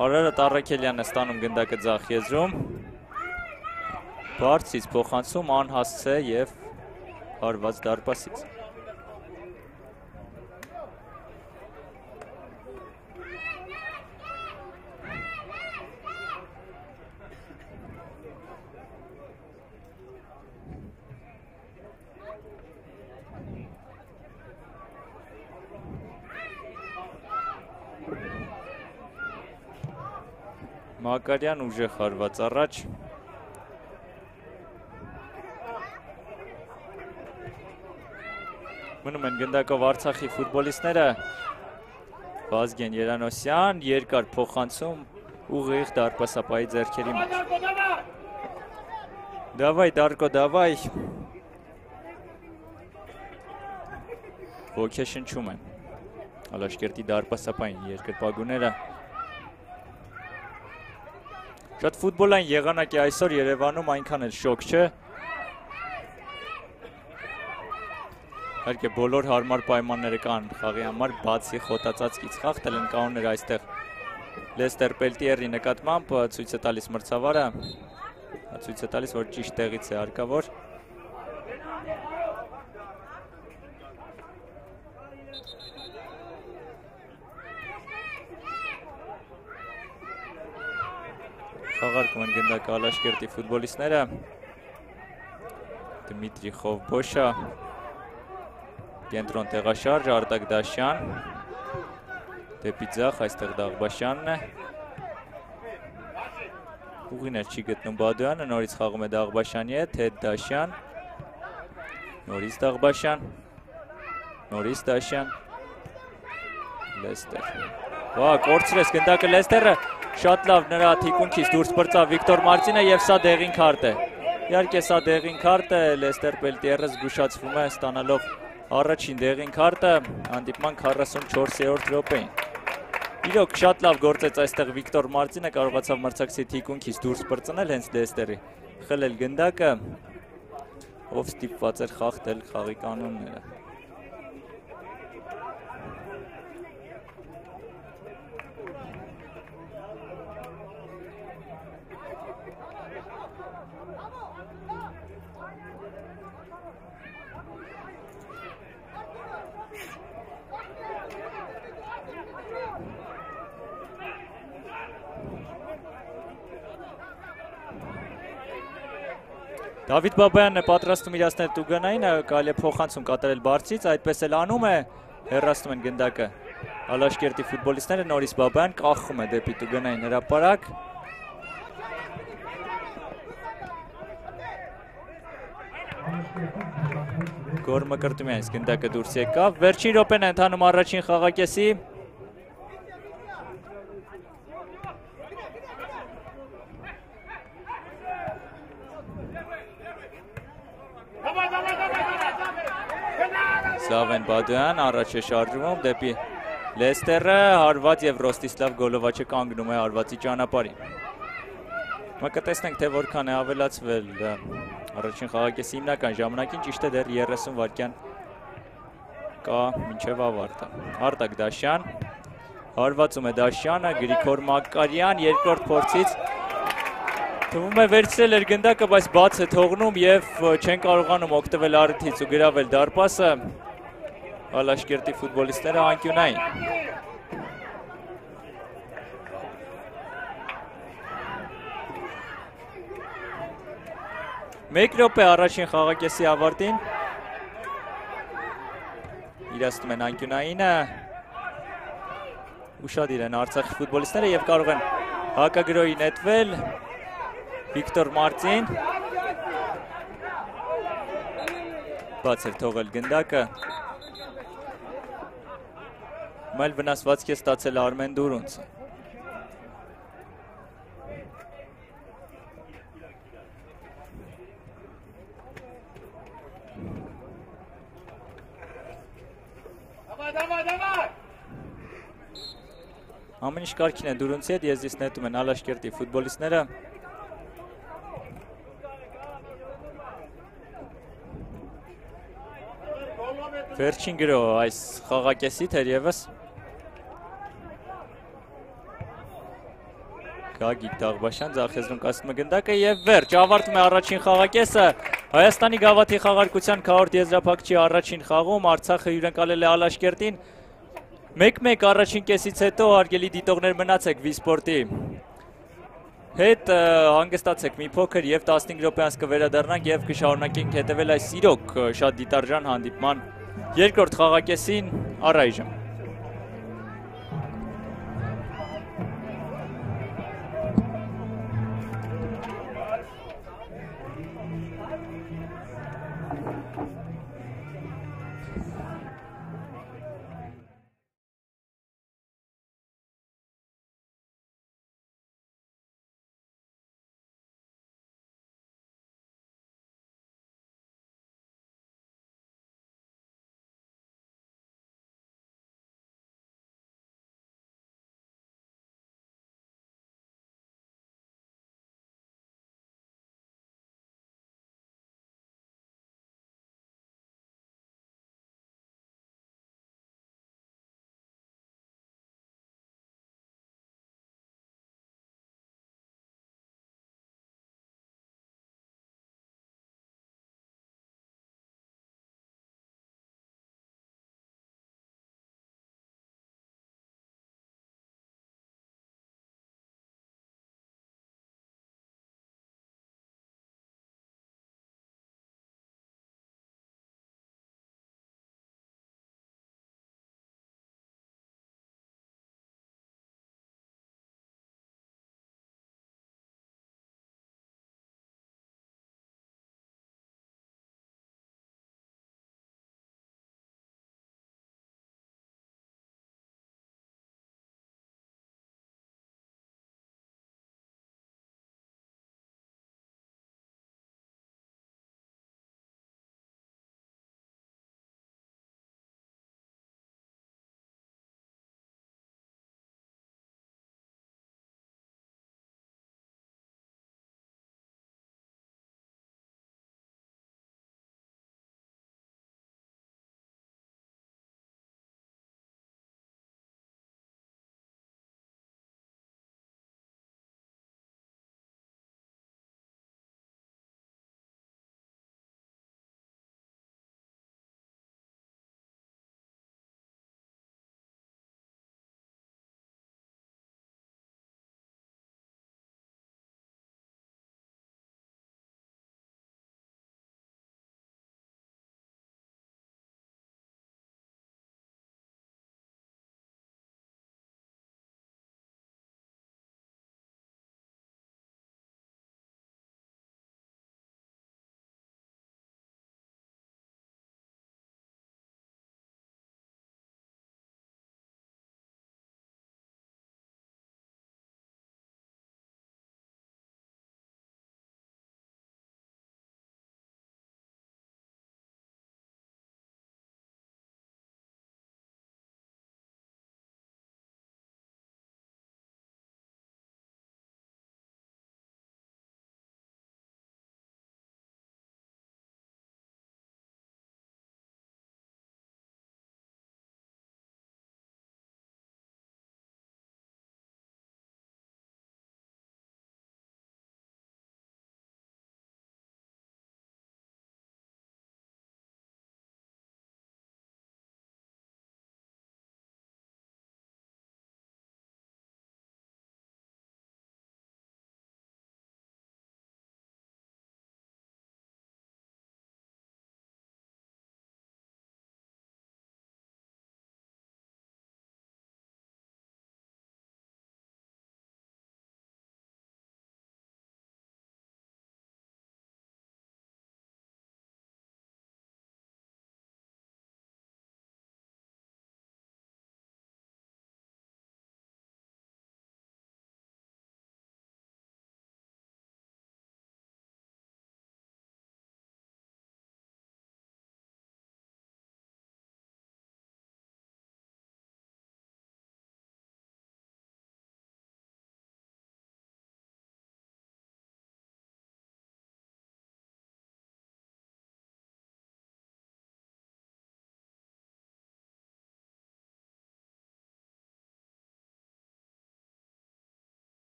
Արարատ Առաքելյանն է ստանում գնդակը ձախ եզրում։ Բարձից փոխանցում անհասցե եւ հարված դարպասից։ Մակարյան ուժեղ հարված առաջ։ Մնում են գնդակով Արցախի ֆուտբոլիստները, Վազգեն Երանոսյան, երկար փոխանցում ուղիղ դարպասապայի ձեռքերի մեջ։ Դավայ Դարկո, դավայ։ Ոգեշնչում են Ալաշկերտի դարպասապային երկրպագուները։ Շատ ֆուտբոլային եղանակ է այսօր Երևանում, այնքան էլ շոկ չէ։ Իհարկե բոլոր հարմար պայմանները կան խաղի համար, բացի խոտածածկից խաղթել են կանոններ այստեղ Լեստեր Պելտիերի նկատմամբ ցույց է տալիս մրցավարը, ցույց է տալիս, որ ճիշտ տեղից է հարկավոր։ Խաղարկում են գնդակը Ալաշկերտի ֆուտբոլիստները։ Դմիտրի Խովբոշա, կենտրոն տեղաշարժ, Արտակ Դաշյան, դեպի ձախ, այստեղ Դաղբաշյանն է։ Ուղիներ չի գտնում Բադոյանը, նորից խաղում է Դաղբաշյանի հետ, հետ Դաշյան, նորից Դաղբաշյան, նորից Դաշյան, Լեստեր։ Կորցրեց գնդակը Լեստերը, շատ լավ նրա թիկունքից դուրս պրծավ Վիկտոր Մարտինը եւ սա դեղին քարտ է։ Իհարկե սա դեղին քարտ է, Լեստեր Պելտիերը զգուշացվում է ստանալով առաջին դեղին քարտը հանդիպման 44-րդ րոպեին։ Իրոք շատ լավ գործեց այստեղ Վիկտոր Մարտինը, կարողացավ մրցակցի թիկունքից դուրս պրծնել հենց Լեստերի, խլել գնդակը, ով ստիպված էր խախտել խաղի կանոնները։ Դավիթ Բաբայանն է պատրաստում իրացնել տուգանային, կարելի է փոխանցում կատարել բարձից, այդպես էլ անում է, հեռացնում են գնդակը Ալաշկերտի ֆուտբոլիստները, նորից Բաբայան կախում է դեպի տուգանային հրապարակ։ Գոր Մկրտումյանից գնդակը դուրս եկավ, վերջին րոպեն է ընթանում առաջին խաղակեսի։ Սավեն Բադոյան առաջ է շարժվում դեպի Լեստերը, հարված եւ Ռոստիսլավ Գոլովաչը կանգնում է հարվածի ճանապարհին։ Կտեսնենք, թե որքան է ավելացվել առաջին խաղակեսի հիմնական ժամանակին, ճիշտ է դեռ 30 վայրկյան կա մինչև ավարտը։ Արտակ Դաշյան, հարվածում է Դաշյանը, Գրիգոր Մակարյան, երկրորդ փորձից թվում է վերցրել էր գնդակը, բայց բաց է թողնում և չեն կարողանում օգտվել առիթից ու գրավել դարպասը Ալաշկերտի ֆուտբոլիստները անկյունային։ Մեկ րոպե առաջին խաղակեսի ավարտին։ Իրացնում են անկյունայինը։ Ուշադիր են Արցախի ֆուտբոլիստները և կարող են հակագրոյի նետվել։ Վիկտոր Մարտին։ Բաց էր թողել գնդակը։ Մայլ վնասվածք է ստացել Արմեն Դուրունցը։ Ամեն ինչ կարգին է Դուրունցի հետ, եզրից նետում են Ալաշկերտի ֆուտբոլիստները։ Վերջին գրո այս խաղակեսի թերևս Գագիկ Դաղբաշյան ձախեզրուն կասնում է գնդակը և վերջ ավարտում է առաջին խաղակեսը Հայաստանի գավաթի խաղարկության քառորդ եզրափակչի առաջին խաղում Արցախը հյուրընկալել է Ալաշկերտին 1-1 առաջին կեսից հետո հարգելի դիտողներ մնացեք Վիսպորտի հետ հանգստացեք մի փոքր և 15 րոպե անց կվերադառնանք և կշարունակենք հետևել այս իրոք շատ դիտարժան հանդիպման երկրորդ խաղակեսին առայժմ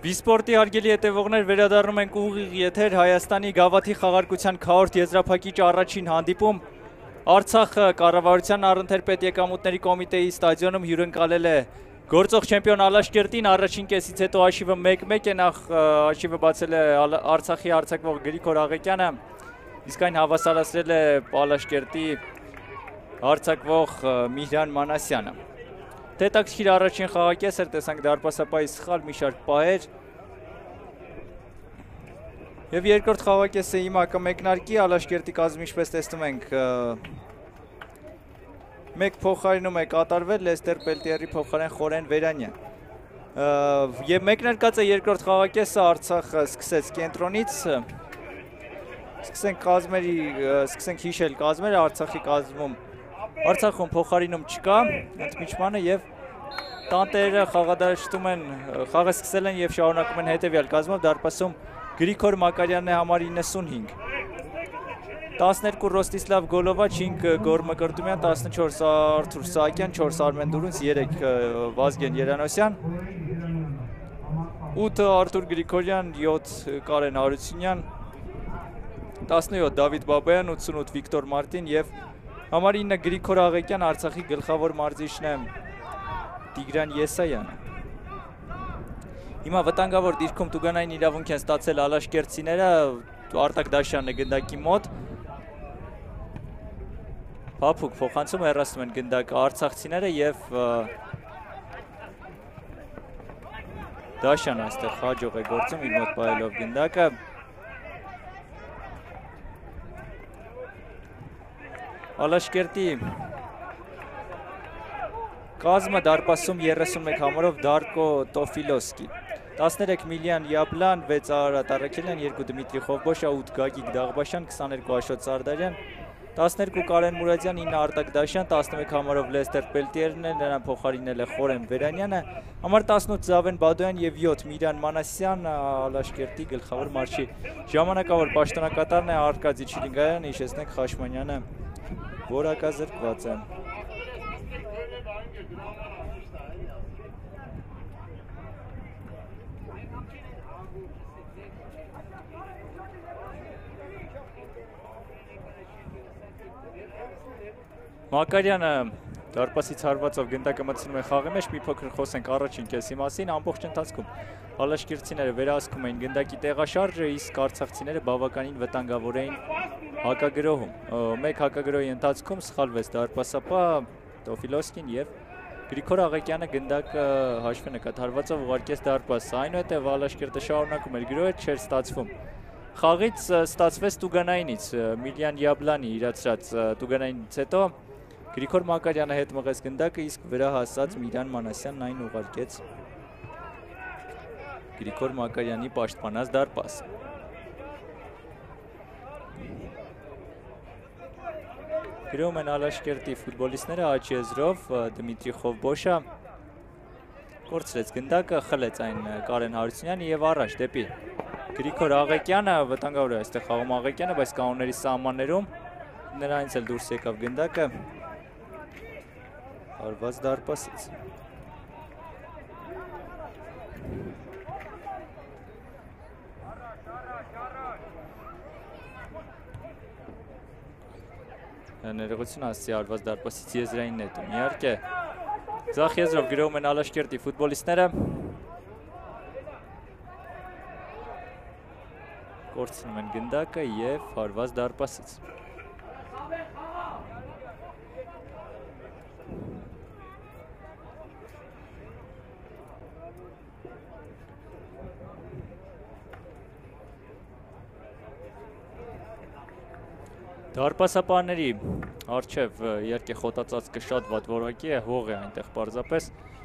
Բիսպորտի հարգելի հետևողներ, վերադառնում ենք ուղիղ եթեր Հայաստանի գավաթի խաղարկության քառորդ եզրափակիչ առաջին հանդիպում Արցախը կառավարության առընթեր պետեկամուտների կոմիտեի ստադիոնում հյուրընկալել է գործող չեմպիոն Ալաշկերտին, առաջին կեսից հետո հաշիվը 1-1 է, նախ հաշիվը բացել է Արցախի արձակվող Գրիգոր Աղեկյանը, իսկ այն հավասարացրել է Ալաշկերտի արձակվող Միհրան Մանասյանը։ Հետաքրքիր առաջին խաղակես էր, տեսանք դարպասապահի սխալ մի շարք պահեր եւ երկրորդ խաղակեսը հիմա կմեկնարկի Ալաշկերտի կազմի, ինչպես տեսնում ենք, մեկ փոխարինում է կատարվել Լեստեր Պելտիերի փոխարեն Խորեն Վերանյան։ Եվ մեկնարկած է երկրորդ խաղակեսը, Արցախը սկսեց կենտրոնից, սկսենք հիշել կազմերը, Արցախի կազմում Արցախում փոխարինում չկա, ընդմիջմանը եւ տանտերը խաղադաշտում են, խաղը սկսել են եւ շարունակում են հետեւյալ կազմով, դարպասում Գրիգոր Մակարյանն է համար 95, 12 Ռոստիսլավ Գոլովա, 5 Գոր Մկրտումյան, 14 Արթուր Սահակյան, 4 Արմեն Դուրունց, 3 Վազգեն Երանոսյան, 8 Արթուր Գրիգորյան, 7 Կարեն Հարությունյան, 17 Դավիթ Բաբայան, 88 Վիկտոր Մարտին եւ համար 9 Գրիգոր Աղեկյան, Արցախի գլխավոր մարզիչն է Տիգրան Եսայանը։ Հիմա վտանգավոր դիրքում տուգանային իրավունք են ստացել ալաշկերտցիները, Արտակ Դաշյանն է գնդակի մոտ։ Փափուկ փոխանցում հեռացնում են գնդակը արցախցիները եւ Դաշյանը այստեղ հաջող է գործում իր մոտ պահելով գնդակը։ Ալաշկերտի կազմը դարպասում 31 համարով Դարկո Տոֆիլոսկի, 13 Միլյան Յաբլան, 6 Արարատ Արաքելյան, 2 Դմիտրի Խովբոշա, 8 Գագիկ Դաղբաշյան, 22 Աշոտ Սարդարյան, 12 Կարեն Մուրադյան, 9 Արտակ Դաշյան, 11 համարով Լեստեր Պելտիերն է, նրան փոխարինել է Խորեն Վերանյանը, համար 18 Զավեն Բադոյան եւ 7 Միհրան Մանասյան, Ալաշկերտի գլխավոր մարզչի ժամանակավոր պաշտոնակատարն է Արկադի Չիլինգայան, հիշեցնենք Խաշմանյանը որակազրկված է։ Մակարյանը դարպասից հարվածով գնդակը մտցնում է խաղի մեջ, մի փոքր խոսենք առաջին կեսի մասին, ամբողջ ընթացքում ալաշկերտցիները վերահսկում էին գնդակի տեղաշարժը, իսկ արցախցիները բավականին վտանգավոր էին հակագրոհում։ Մեկ հակագրոհի ընթացքում սխալվեց դարպասապահ Տոֆիլոսկին եւ Գրիգոր Աղեկյանը գնդակը հաշվի նկատ հարվածով ուղարկեց դարպաս, այնուհետև Ալաշկերտը շարունակում էր գրոհը, չէր ստացվում։ Խաղից ստացվեց տուգանայինից, Միլյան Յաբլանի իրացրած տուգանայինից հետո Գրիգոր Մակարյանը հետ մղեց գնդակը, իսկ վերահասած Միհրան Մանասյանն այն ուղարկեց Գրիգոր Մակարյանի պաշտպանած դարպասը։ Գրում են Ալաշկերտի ֆուտբոլիստները աչեզրով, Դմիտրի Խովբոշա կորցրեց գնդակը, խլեց այն Կարեն Հարությունյանը եւ առաջ դեպի Գրիգոր Աղեկյանը, վտանգավոր է այստեղ խաղում Աղեկյանը, բայց կանոնների սահմաններում նրանից էլ դուրս եկավ գնդակը հարված դարպասից։ Ներողություն ասցի հարված դարպասից եզրային նետում, իհարկե ձախ եզրով գրոհում են Ալաշկերտի ֆուտբոլիստները, կորցնում են գնդակը եւ հարված դարպասից։ Դարպասապահների առջև իհարկե խոտածածկը շատ վատ որակի է, հող է այնտեղ պարզապես,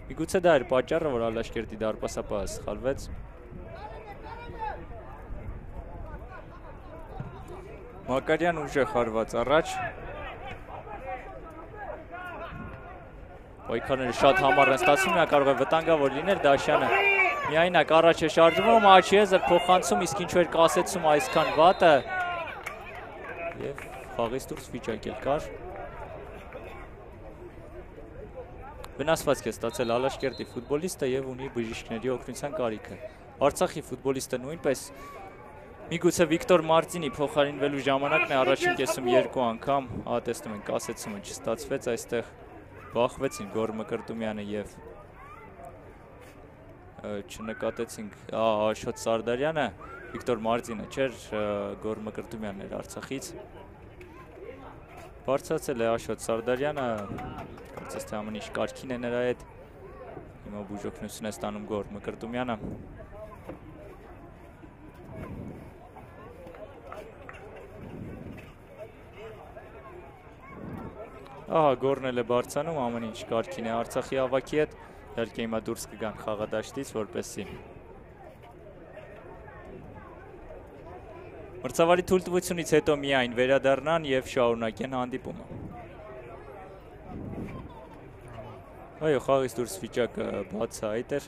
միգուցե դա էր պատճառը, որ Ալաշկերտի դարպասապահը սխալվեց։ Մակարյան ուժեղ հարված առաջ, պայքարները շատ համառ են ստացվում, նա կարող է վտանգավոր լինել, Դաշյանը միայնակ առաջ է շարժվում, աչիեզր փոխանցում, իսկ ինչու էր կասեցում այսքան վատը եւ խաղից դուրս վիճակել կար։ Վնասվածք է ստացել Ալաշկերտի ֆուտբոլիստը եւ ունի բժիշկների օգնության կարիքը։ Արցախի ֆուտբոլիստը նույնպես միգուցե Վիկտոր Մարտինի փոխարինվելու ժամանակն է առաջին կեսում 2 անգամ, տեսնում ենք կասեցումը չստացվեց, այստեղ բախվեցին Գոր Մկրտումյանը եւ չնկատեցինք Աշոտ Սարդարյանը, Վիկտոր Մարտինը չէր, Գոր Մկրտումյանն էր Արցախից։ Բարձրացել է Աշոտ Սարդարյանը, կարծես թե ամեն ինչ կարգին է նրա հետ։ Հիմա բուժօգնություն է ստանում Գոր Մկրտումյանը։ Ահա Գորն էլ է բարձանում, ամեն ինչ կարգին է Արցախի ավակի հետ, իհարկե հիմա դուրս կգան խաղադաշտից, որպեսզի մրցավարի թույլտվությունից հետո միայն վերադառնան եւ շարունակեն հանդիպումը։ Այո, խաղից դուրս վիճակը բացահայտ էր։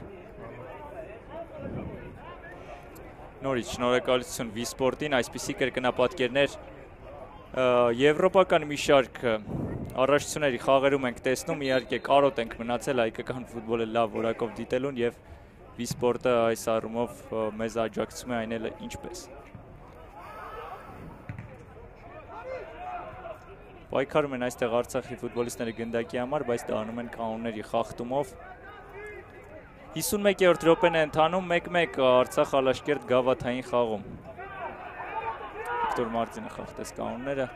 Նորից շնորհակալություն Վիսպորտին, այսպիսի կրկնապատկերներ եվրոպական մի շարք առաջությունների խաղերում ենք տեսնում, իհարկե կարոտ ենք մնացել հայկական ֆուտբոլը լավ որակով դիտելուն եւ Վիսպորտը այս առումով մեզ աջակցում է այն էլ ինչպես։ Պայքարում են այստեղ Արցախի ֆուտբոլիստները գնդակի համար, բայց դառնում են կանոնների խախտումով։ 51-րդ րոպեն է ընթանում 1-1 Արցախ Ալաշկերտ գավաթային խաղում։ Վիկտոր Մարտինը խախտեց կանոնները։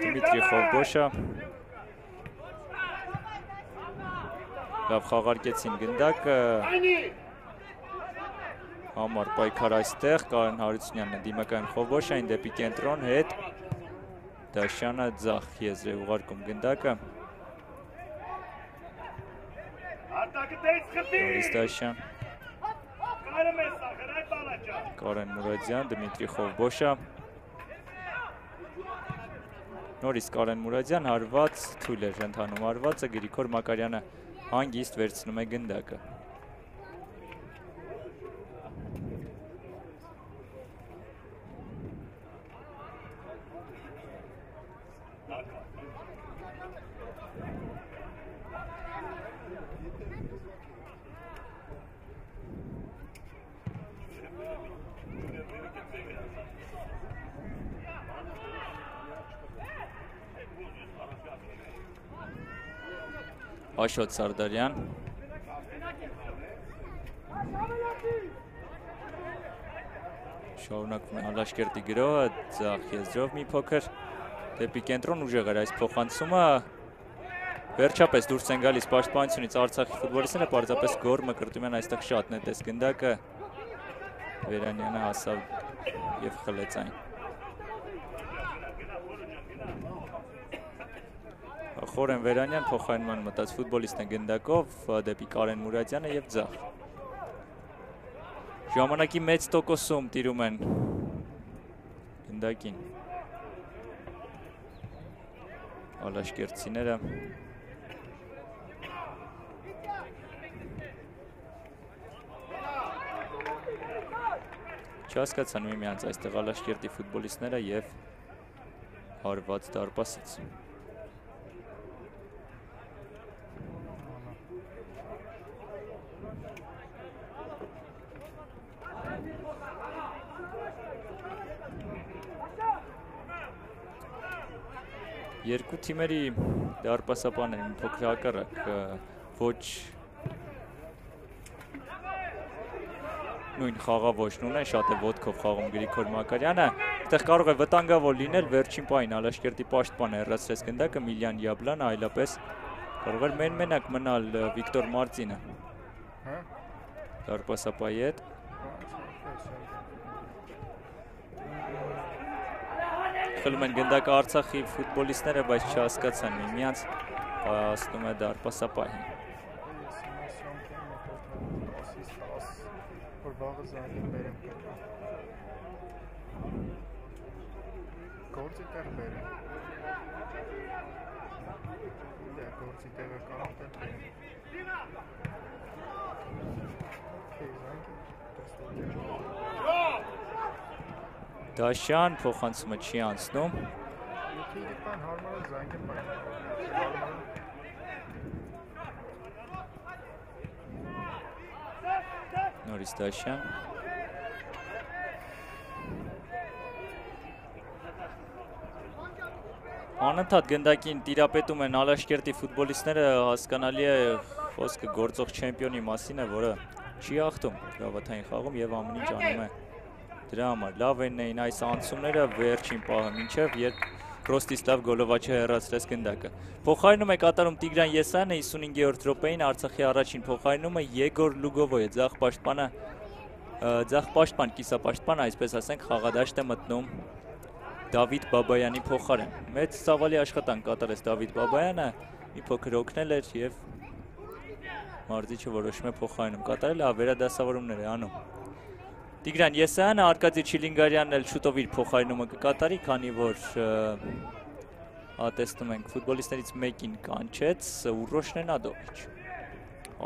Դիմիտրի Խովբոշը լավ խաղարկեցին գնդակը, համար պայքար այստեղ, Կարեն Հարությունյանն է դիմակայում Խովբոշային դեպի կենտրոն հետ, Դաշյանը ձախ եզր է ուղարկում գնդակը, Նորից Դաշյան, Կարեն Մուրադյան, Դմիտրի Խովբոշը, Նորից Կարեն Մուրադյան, հարված, թույլ էր ընթանում հարվածը, Գրիգոր Մակարյանը հանգիստ վերցնում է գնդակը։ Աշոտ Սարդարյան, շարունակվում է Ալաշկերտի գրոհը, ձախ եզրով մի փոքր դեպի կենտրոն ուժեղ էր այս փոխանցումը, վերջապես դուրս են գալիս պաշտպանությունից Արցախի ֆուտբոլիստները, պարզապես Գոր Մկրտումյան այստեղ շատ նետեց գնդակը, Վերանյանը հասավ եւ խլեց այն։ Խորեն Վերանյան փոխարինման մտած ֆուտբոլիստն է գնդակով դեպի Կարեն Մուրադյանը եւ ձախ։ Ժամանակի մեծ տոկոսում տիրում են գնդակին Ալաշկերտցիները։ Չհասկացան միմյանց այստեղ Ալաշկերտի ֆուտբոլիստները եւ հարված դարպասից։ Երկու թիմերի դարպասապաններին փոքր հակառակ ոչ նույն խաղավոճն ունեն, շատ է ոտքով խաղում Գրիգոր Մակարյանը, այդտեղ կարող է վտանգավոր լինել, վերջին պահին Ալաշկերտի պաշտպանը հեռացրեց գնդակը Միլյան Յաբլանը, այլապես կարող էր մենակ մնալ Վիկտոր Մարտինը դարպասապայի հետ։ Խլում են գնդակը Արցախի ֆուտբոլիստները, բայց չհասկացան միմյանց, հասնում է դարպասապահին։ Գործի տեղ բերեմ։ Գործի տեղը կարող տեղ բերեմ։ Դաշյան փոխանցումը չի անցնում։ Թիրի բան հարմարը զանգը բան։ Նորից Դաշյան։ Անընդհատ գնդակին տիրապետում են Ալաշկերտի ֆուտբոլիստները, հասկանալի է խոսքը գործող չեմպիոնի մասին է, որը չի հաղթում գավաթային խաղում եւ ամեն ինչ անում է դրա համար։ Լավ էին այս անցումները վերջին պահը մինչև երբ Ռոստիսլավ Գոլովաչը հեռացրեց գնդակը։ Փոխարինում է կատարում Տիգրան Եսայանը 55-րդ րոպեին, Արցախի առաջին փոխարինումը Եգոր Լուգովոյը, ձախ պաշտպան, կիսապաշտպան, այսպես ասենք, խաղադաշտ է մտնում Դավիթ Բաբայանի փոխարեն։ Մեծ ցավալի աշխատանք կատարեց Դավիթ Բաբայանը, մի փոքր օգնել էր եւ մարզիչը որոշում է փոխարինում կատարել, վերադասավորումներ է անում։ Տիգրան Եսայանը, Արկադի Չիլինգարյանն էլ շուտով իր փոխարինումը կկատարի, քանի որ տեսնում ենք ֆուտբոլիստներից մեկին կանչեց Ուռոշ Նենադովիչ։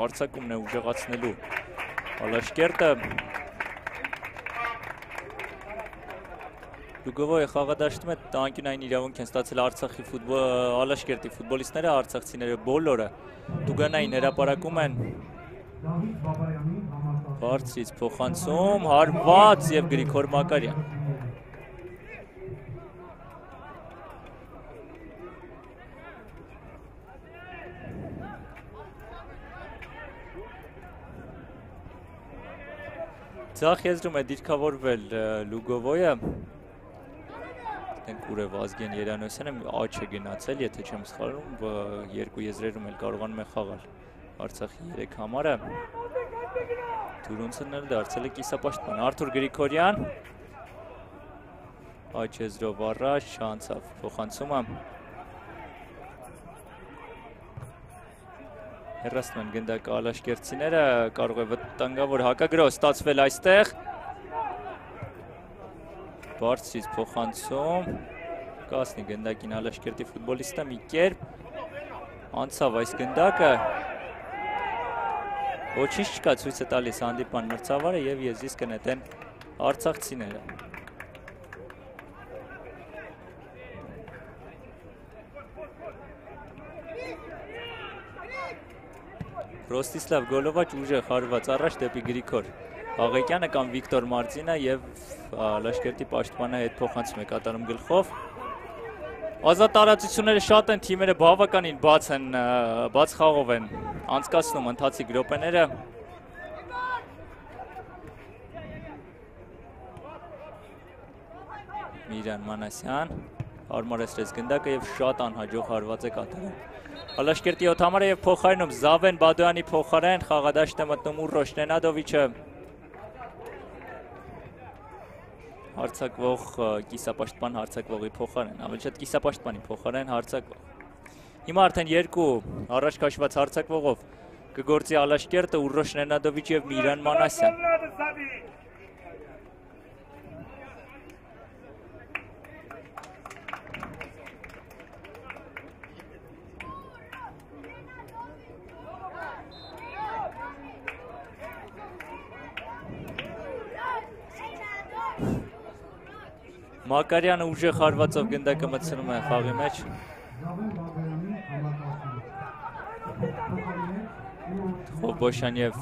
Արձակումն է ուժեղացնելու Ալաշկերտը։ Լուգովոյը խաղադաշտում է, անկյունային իրավունք են ստացել Արցախի Ալաշկերտի ֆուտբոլիստները, արցախցիները բոլորը Տուգանային հրապարակում են։ Բարձրից փոխանցում, հարված եւ Գրիգոր Մակարյան։ Ձախ եզրում է դիրքավորվել Լուգովոյը։ Դենք ուր է Վազգեն Երանոսյանը, աչ է գնացել, եթե չեմ սխալվում, երկու եզրերում էլ կարողանում է խաղալ Արցախի 3 համարը։ Թուրունցն էլ դարձել է կիսապաշտպան։ Արթուր Գրիգորյան, աչ եզրով առաջ, անցավ փոխանցումը։ Հեռացնում են գնդակը Ալաշկերտցիները, կարող է վտանգավոր հակագրոհ ստացվել այստեղ։ Բարձրից փոխանցում, կասնի գնդակին Ալաշկերտի ֆուտբոլիստը մի կերպ, անցավ այս գնդակը, ոչինչ չկա, ցույց է տալիս հանդիպան մրցավարը եւ եզրից կնետեն արցախցիները։ Ռոստիսլավ Գոլովաչ ուժեղ հարված առաջ դեպի Գրիգոր Աղեկյանը կամ Վիկտոր Մարզինը եւ Ալաշկերտի պաշտպանը հետ փոխանցում է կատարում գլխով։ Ազատ տարածությունները շատ են, թիմերը բավականին բաց խաղով են անցկացնում ընթացիկ րոպեները։ Միրան Մանասյան հարմարեցրեց գնդակը եւ շատ անհաջող հարված է կատարում Ալաշկերտի 7 համարը եւ փոխարինում Զավեն Բադոյանի փոխարեն խաղադաշտ է մտնում Ուռոշ Նենադովիչը։ Հարցակվող կիսապաշտպան հարցակվողի փոխարեն, ավելի շատ կիսապաշտպանի փոխարեն հարցակվող։ Հիմա արդեն երկու առաջ քաշված հարցակվողով կգործի Ալաշկերտը, Ուռոշ Նենադովիչ եւ Միրան Մանասյան։ Մակարյանը ուժեղ հարվածով գնդակը մտցնում է խաղի մեջ։ Խոբոշյան եւ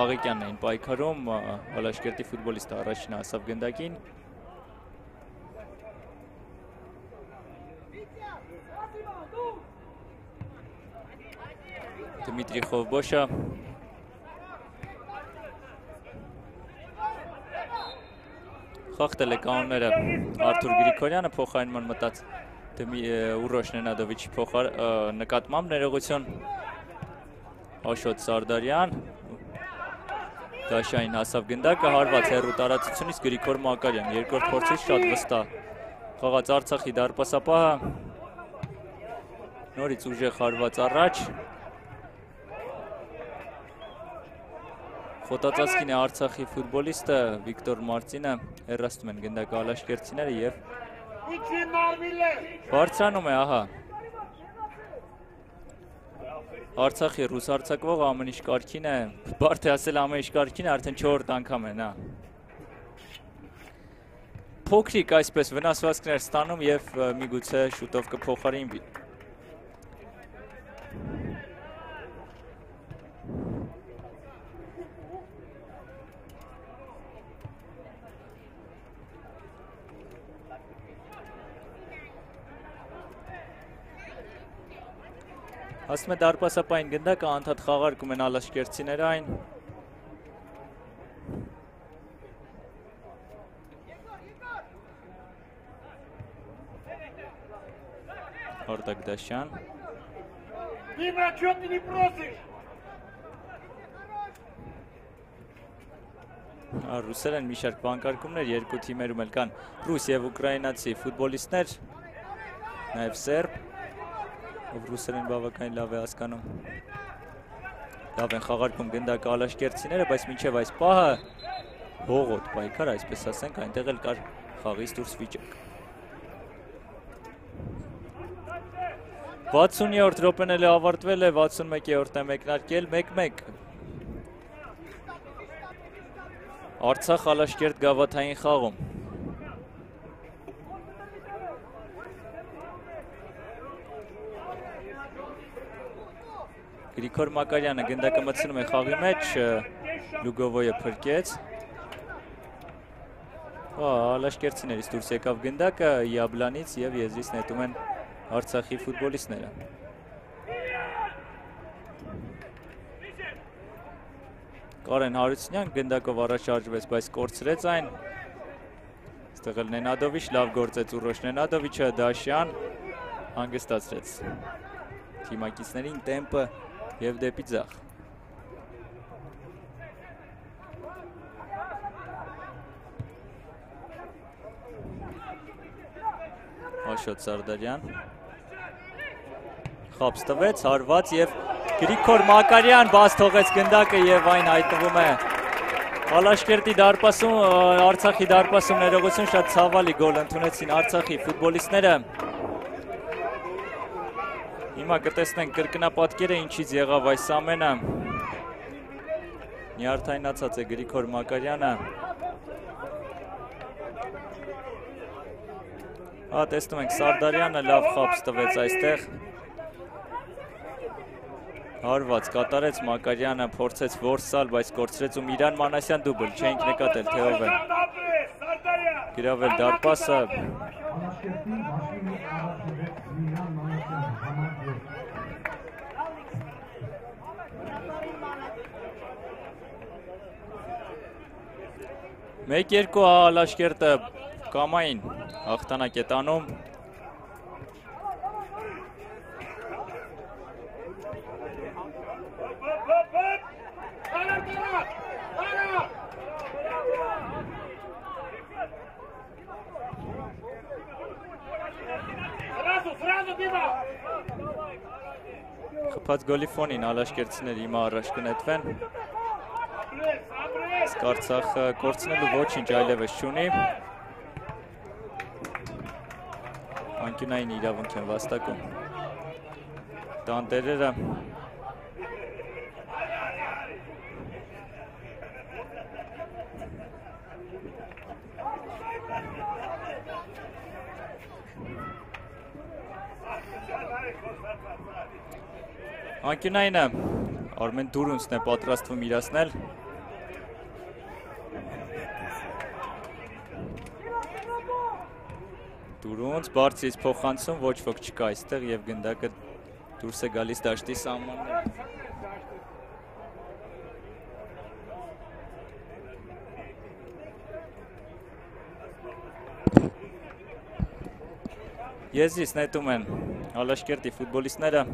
Աղեկյանն էին պայքարում, Ալաշկերտի ֆուտբոլիստը առաջինը հասավ գնդակին։ Դմիտրի Խոբոշը խախտել է կանոնները Արթուր Գրիգորյանը, փոխարինման մտած Ուռոշ Նենադովիչի նկատմամբ ներողություն Աշոտ Սարդարյան, Դաշային հասավ գնդակը, հարված հեռու տարածությունից Գրիգոր Մակարյան, երկրորդ փորձից շատ վստահ խաղաց Արցախի դարպասապահը, նորից ուժեղ հարված առաջ, խոտածածկին է Արցախի ֆուտբոլիստը Վիկտոր Մարզինը, հեռացնում են գնդակը Ալաշկերտցիները եւ բարձրանում է, ահա Արցախի ռուս արձակվողը ամեն ինչ կարգին է, բարդ է ասել ամեն ինչ կարգին է, արդեն 4-րդ անգամ է նա փոքրիկ այսպես վնասվածքներ ստանում եւ միգուցե շուտով կփոխարինվի։ Ասում է դարպասապային գնդակը անդադ խաղարկում են ալաշկերտցիները այն։ Արտակ Դաշյան։ Дима, чё ты не просишь? Ռուսեր են մի շարք բանկարկումներ, երկու թիմերում էլ կան ռուս եւ ուկրաինացի ֆուտբոլիստներ, նաեւ սերբ, ով ռուսերեն բավականին լավ է հասկանում։ Լավ են խաղարկում գնդակը ալաշկերտցիները, բայց մինչև այս պահը հողոտ պայքար, այսպես ասենք, այնտեղ էլ կար խաղից դուրս վիճակ։ 60-րդ րոպեն էլ ավարտվել է, 61-րդն է մեկնարկել 1-1։ Արցախ ալաշկերտ գավաթային խաղում։ Գրիգոր Մակարյանը գնդակը մտցնում է խաղի մեջ, Լուգովոյը փրկեց։ Ալաշկերտցիներից դուրս եկավ գնդակը, Յաբլանից եւ եզրից նետում են Արցախի ֆուտբոլիստները։ Կարեն Հարությունյան գնդակով առաջ շարժվեց, բայց կորցրեց այն։ Այստեղ էլ Նենադովիչ լավ գործեց Ուռոշ Նենադովիչը, Դաշյան հանգստացրեց թիմակիցներին տեմպը եւ դեպի ձախ։ Աշոտ Սարդարյան խապս տվեց, հարված եւ Գրիգոր Մակարյան բաց թողեց գնդակը եւ այն հայտնվում է Ալաշկերտի դարպասում, Արցախի դարպասում ներողություն, շատ ցավալի գոլ ընդունեցին Արցախի ֆուտբոլիստները։ Հիմա կտեսնենք կրկնապատկերը ինչից եղավ այս ամենը։ Նյարդայնացած է Գրիգոր Մակարյանը։ Տեսնում ենք Սարդարյանը լավ խապս տվեց այստեղ։ Հարված կատարեց Մակարյանը, փորձեց որսալ, բայց կորցրեց ու Միրան Մանասյան դուբլ, չենք նկատել թե ով է գրավել դարպասը։ Մեկ երկու Ալաշկերտը կամային հաղթանակ է տանում։ Խփած գոլի ֆոնին ալաշկերտցիները հիմա առաջ կնետվեն։ Իսկ Արցախը կորցնելու ոչինչ այլևս չունի։ Անկյունային իրավունք են վաստակում տանտերերը։ Անկյունայինը Արմեն Դուրունցն է պատրաստվում իրացնել։ Դուրունց բարձրից փոխանցում, ոչ ոք չկա այստեղ եւ գնդակը դուրս է գալիս դաշտի սահմաններ։ Եզրից նետում են Ալաշկերտի ֆուտբոլիստները։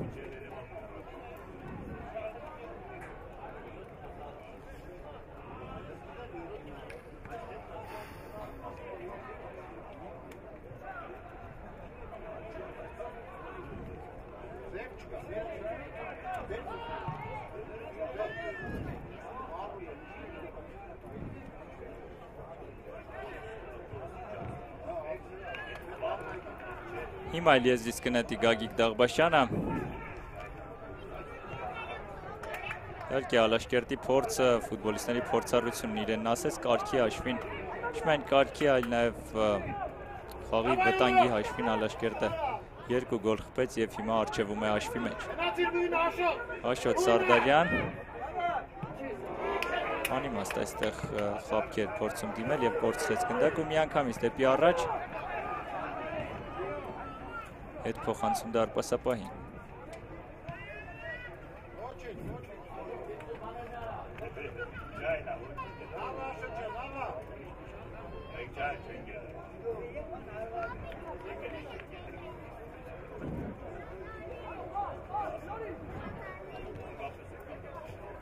Հիմա այլ եզրից կնետի Գագիկ Դաղբաշյանը։ Իհարկե Ալաշկերտի փորձը, ֆուտբոլիստների փորձառությունն իրենն ասեց, կարգի հաշվին Չմեն կարգի այլ նաև խաղի վտանգի հաշվին Ալաշկերտը 2 գոլ խփեց և հիմա առջևում է հաշվի մեջ։ Աշոտ Սարդարյան անիմաստ այստեղ խաբքեր փորձում դիմել և կորցրեց գնդակ ու միանգամից դեպի առաջ հետ փոխանցում դարպասապահին։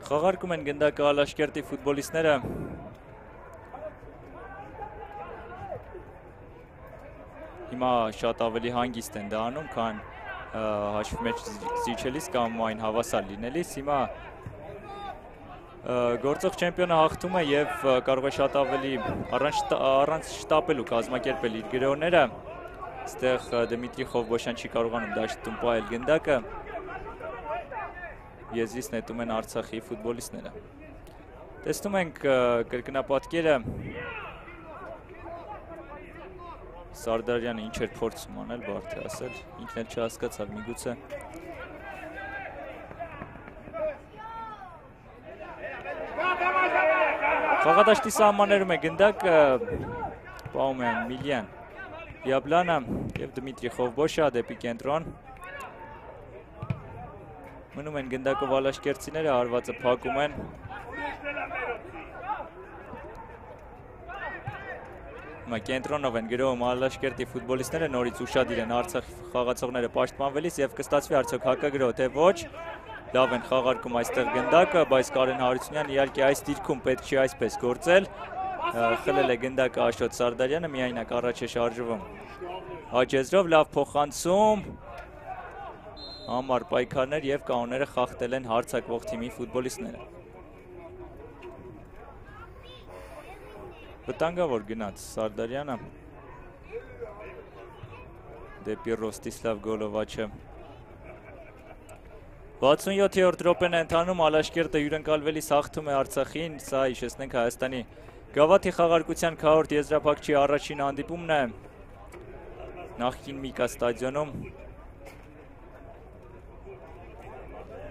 Խաղարկում են գնդակը Ալաշկերտի ֆուտբոլիստները։ Հիմա շատ ավելի հանգիստ են դա անում, քան հաշվի մեջ զիջելիս կամ այն հավասար լինելիս։ Հիմա գործող չեմպիոնը հաղթում է և կարող է շատ ավելի առանց շտապելու կազմակերպել իր գրողները։ Այստեղ Դմիտրի Խովբոշյան չի կարողանում դաշտում պահել գնդակը։ Եզրից նետում են Արցախի ֆուտբոլիստները։ Տեսնում ենք կրկնապատկերը Սարդարյանը ինչ էր փորձում անել, բարդ է ասել, ինքն էլ չհասկացավ միգուցե։ Խաղադաշտի սահմաններում է գնդակը, պահում են Միլյան Յաբլանը և Դմիտրի Խովբոշյա դեպի կենտրոն։ Մնում են գնդակով ալաշկերտցիները, հարվածը փակում են։ Հիմա կենտրոնով են գրոհում ալաշկերտի ֆուտբոլիստները, նորից ուշադիր են Արցախի խաղացողները պաշտպանվելիս և կստացվի արդյոք հակագրոհ թե ոչ։ Լավ են խաղարկում այստեղ գնդակը, բայց Կարեն Հարությունյանը իհարկե այս դիրքում պետք չի այսպես գործել։ Խլել է գնդակը Աշոտ Սարդարյանը, միայնակ առաջ է շարժվում Հաջեզրով, լավ փոխանցում։ Համար պայքարներ և կանոնները խախտել են հարձակվող թիմի ֆուտբոլիստները։ Վտանգավոր գնաց Սարդարյանը դեպի Ռոստիսլավ Գոլովաչը։ 67-րդ րոպեն է ընթանում, Ալաշկերտը հյուրընկալվելիս հաղթում է Արցախին, սա հիշեցնենք Հայաստանի գավաթի խաղարկության քառորդ եզրափակչի առաջին հանդիպումն է նախկին Միկա ստադիոնում։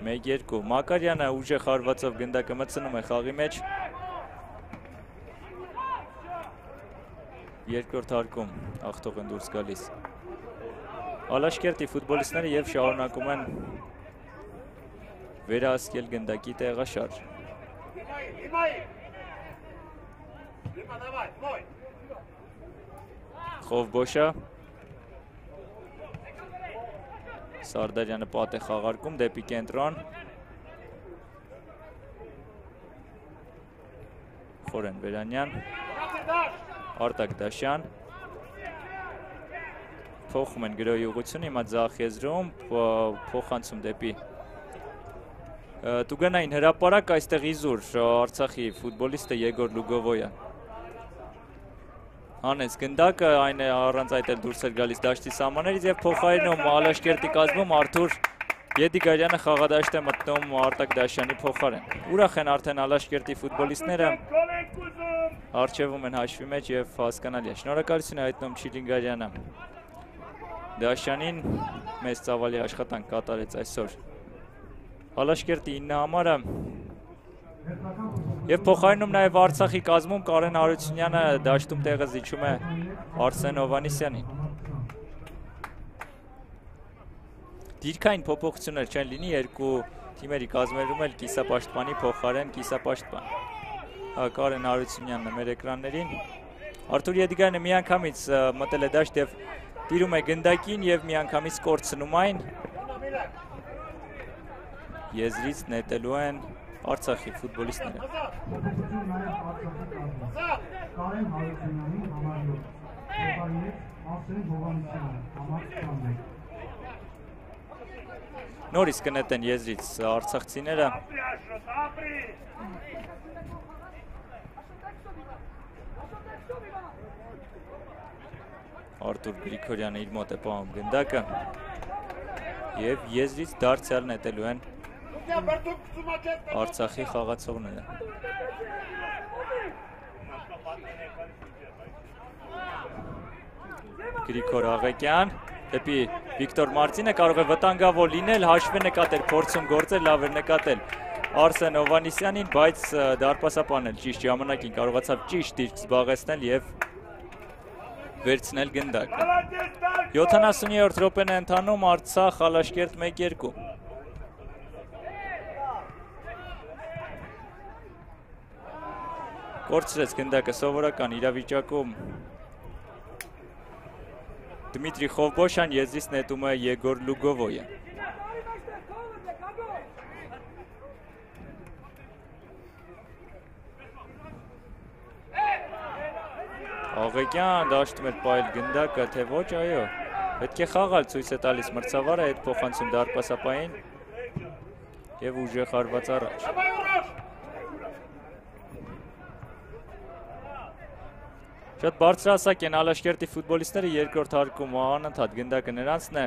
1-2 Մակարյանը ուժեղ հարվածով գնդակը մտցնում է խաղի մեջ։ Երկրորդ հարկում հաղթող են դուրս գալիս Ալաշկերտի ֆուտբոլիստները և շարունակում են վերահսկել գնդակի տեղաշարժ։ Խովբոշյա Սարդարյանը պատ է խաղարկում դեպի կենտրոն։ Խորեն Վերանյան, Արտակ Դաշյան։ Փոխում են գրոհի ուղղությունը, հիմա ձախ եզրում, փոխանցում դեպի Տուգանային հրապարակ, այստեղ իզուր Արցախի ֆուտբոլիստը Եգոր Լուգովոյան։ Հանեց գնդակը, այն է առանց այդ էլ դուրս էր գալիս դաշտի սահմաններից և փոխարինում Ալաշկերտի կազմում Արթուր Եդիգարյանը խաղադաշտ է մտնում Արտակ Դաշյանի փոխարեն։ Ուրախ են արդեն Ալաշկերտի ֆուտբոլիստները, առջևում են հաշվի մեջ և հասկանալի է։ Շնորհակալություն է հայտնում Չիլինգարյանը Դաշյանին, մեծ ծավալի աշխատանք կատարեց այսօր Ալաշկերտի 9 համարը և փոխարինում նաև Արցախի կազմում Կարեն Հարությունյանը դաշտում տեղը զիջում է Արսեն Հովհաննիսյանին։ Դիրքային փոփոխություններ չեն լինի, երկու թիմերի կազմերում էլ կիսապաշտպանի փոխարեն կիսապաշտպան։ Կարեն Հարությունյանն է մեր էկրաններին։ Արթուր Եդիգարյանը միանգամից մտել է դաշտ և տիրում է գնդակին և միանգամից կորցնում այն։ Եզրից նետելու են Արցախի ֆուտբոլիստները։ Նորից կնետեն եզրից արցախցիները։ Արտուր Գրիգորյանը իր մոտ է պահում գնդակը և եզրից դարձյալ նետելու են Արցախի խաղացողները։ Գրիգոր Աղեկյան, դեպի Վիկտոր Մարտինը, կարող է վտանգավոր լինել, հաշվի նկատել, փորձում գործել, լավ էր նկատել Արսեն Հովհաննիսյանին, բայց դարպասապանն էլ ճիշտ ժամանակին կարողացավ ճիշտ դիրք զբաղեցնել եւ վերցնել գնդակը։ 70-րդ րոպեն է ընթանում, Արցախ Ալաշկերտ 1-2։ Կորցրեց գնդակը սովորական իրավիճակում Դմիտրի Խովբոշյան, եզրից նետում է Եգոր Լուգովոյը։ Աղեկյան դաշտում էր պայել գնդակը, թե ոչ, այո, պետք է խաղալ, ցույց է տալիս մրցավարը, հետ փոխանցում դարպասապային եւ ուժեղ հարված առաջ։ Շատ բարձրահասակ են Ալաշկերտի ֆուտբոլիստները, երկրորդ հարկում անընդհատ գնդակը նրանցն է։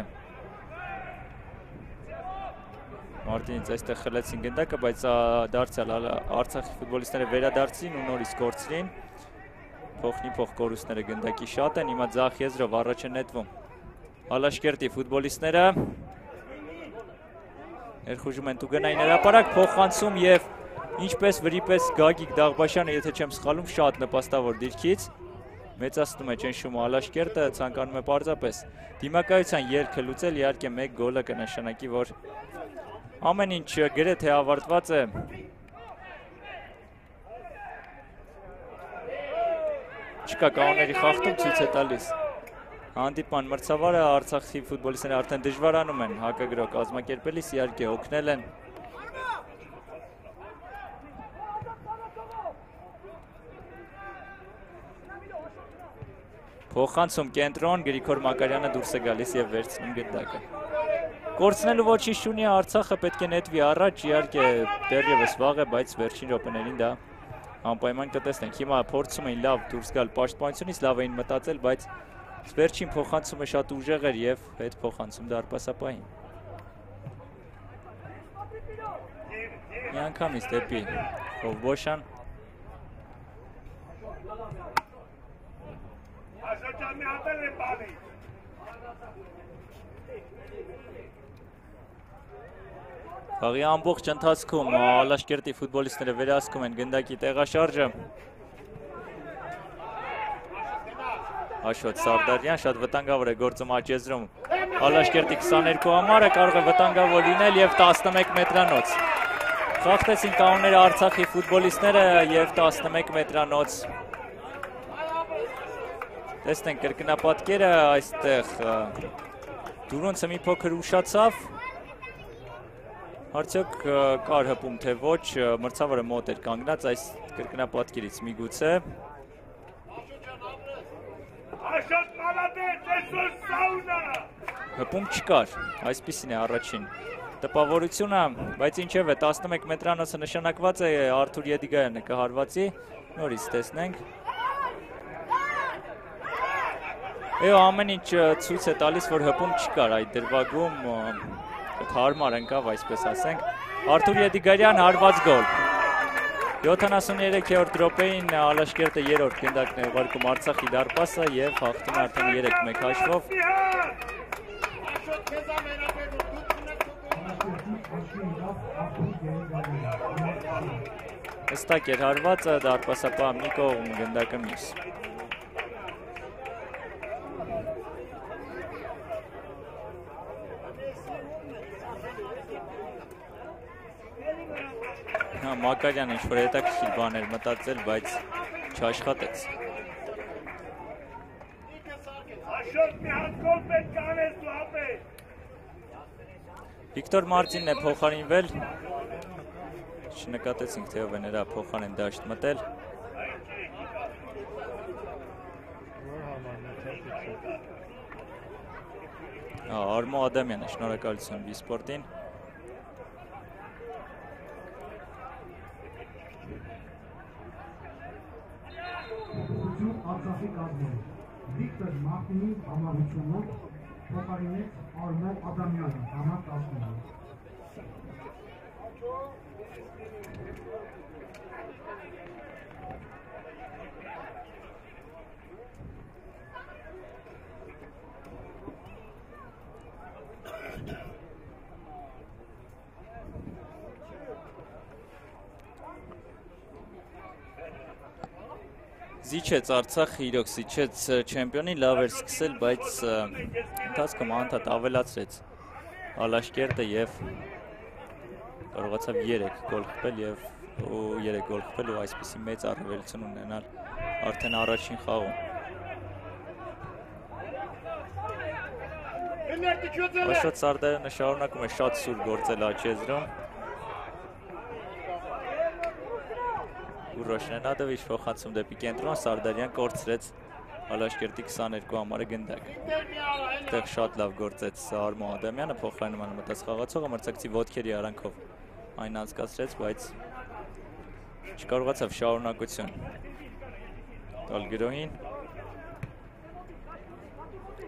Մարտինից այստեղ խլեցին գնդակը, բայց դարձյալ Արցախի ֆուտբոլիստները վերադարձին ու նորից կորցրին։ Փոխնի-փոխ կորուստները գնդակի շատ են, հիմա ձախ եզրով առաջ է նետվում Ալաշկերտի ֆուտբոլիստները։ Ներխուժում են տուգնային հրապարակ, փոխանցում եւ ինչպես վրիպես Գագիկ Դաղբաշյանը, եթե չեմ սխալում, շատ նպաստավոր դիրքից մեծացնում է ճնշումը Ալաշկերտը, ցանկանում է պարզապես դիմակայության ելքը լուծել, իհարկե մեկ գոլը կնշանակի, որ ամեն ինչ գրեթե ավարտված է։ Չկա կանոնների խախտում, ցույց է տալիս հանդիպման մրցավարը, Արցախի ֆուտբոլիստները արդեն դժվարանում են հակագրող կազմակերպելիս, իհարկե օգնել են։ Փոխանցում կենտրոն, Գրիգոր Մակարյանը դուրս է գալիս եւ վերցնում գնդակը։ Կորցնելու ոչինչ չունի, Արցախը պետք է նետվի առաջ, իհարկե դեռևս վաղ է, բայց վերջին րոպեներին դա անպայման կտեսնենք։ Հիմա փորձում էին լավ դուրս գալ պաշտպանությունից, լավ էին մտածել, բայց վերջին փոխանցումը շատ ուժեղ էր եւ հետ փոխանցում դարպասապային։ Միանգամից դեպի Խովբոշյան։ Խաղի ամբողջ ընթացքում Ալաշկերտի ֆուտբոլիստները վերահսկում են գնդակի տեղաշարժը։ Աշոտ Սարդարյան, շատ վտանգավոր է գործում աճեզրում Ալաշկերտի 22 համարը, կարող է վտանգավոր լինել եւ 11 մետրանոց։ Խախտեցին կանոնները Արցախի ֆուտբոլիստները եւ 11 մետրանոց։ Տեսնենք կրկնապատկերը այստեղ Դուրոնցը մի փոքր ուշացավ։ Արդյոք կար հպում, թե ոչ, մրցավարը մոտ էր կանգնած այս կրկնապատկերից միգուցե։ Հպում չկար, այսպիսին է առաջին տպավորությունը, բայց ինչև է 11 մետրանոցը նշանակված է Արթուր Եդիգայանը կհարվածի, նորից տեսնենք։ Եվ ամեն ինչ ցույց է տալիս, որ հպում չկար այդ դրվագում, հարմար ընկավ, այսպես ասենք։ Արթուր Եդիգարյան հարված գոլ։ 73-րդ րոպեին Ալաշկերտը երրորդ գնդակն է ուղարկում Արցախի դարպասը եւ հաղթում արդեն 3-1 հաշվով։ Հստակ էր հարվածը, դարպասապահ մի կողմ, գնդակը մյուս։ Մակարյանը ինչ-որ հետաքրքիր բաներ մտածել, բայց չաշխատեց։ Վիկտոր Մարտինն է փոխարինվել։ Չնկատեցինք, թե ով է նրա փոխարեն դաշտ մտել։ Արմո Ադամյանը, շնորհակալություն Վիսպորտին։ Արցախի կազմում Վիկտոր Մարտինի համառությունով փոխարինեց Արմո Ադամյանը համար 19։ Զիջեց Արցախը, իրոք զիջեց չեմպիոնին, լավ էր սկսել, բայց ընթացքում անդադ ավելացրեց Ալաշկերտը եւ կարողացավ 3 գոլ խփել եւ 3 գոլ խփել ու այսպիսի մեծ առավելություն ունենալ արդեն առաջին խաղում։ Աշոտ Սարդարյանը շարունակում է շատ սուր գործել աչեզրում։ Ուռոշ Նենադովիչ փոխանցում դեպի կենտրոն, Սարդարյան կորցրեց Ալաշկերտի 22 համարը գնդակ։ Այդտեղ շատ լավ գործեց Արմո Ադամյանը, փոխարինման մտած խաղացողը մրցակցի ոտքերի արանքով այն անցկացրեց, բայց չկարողացավ շարունակություն տալ գրոհին։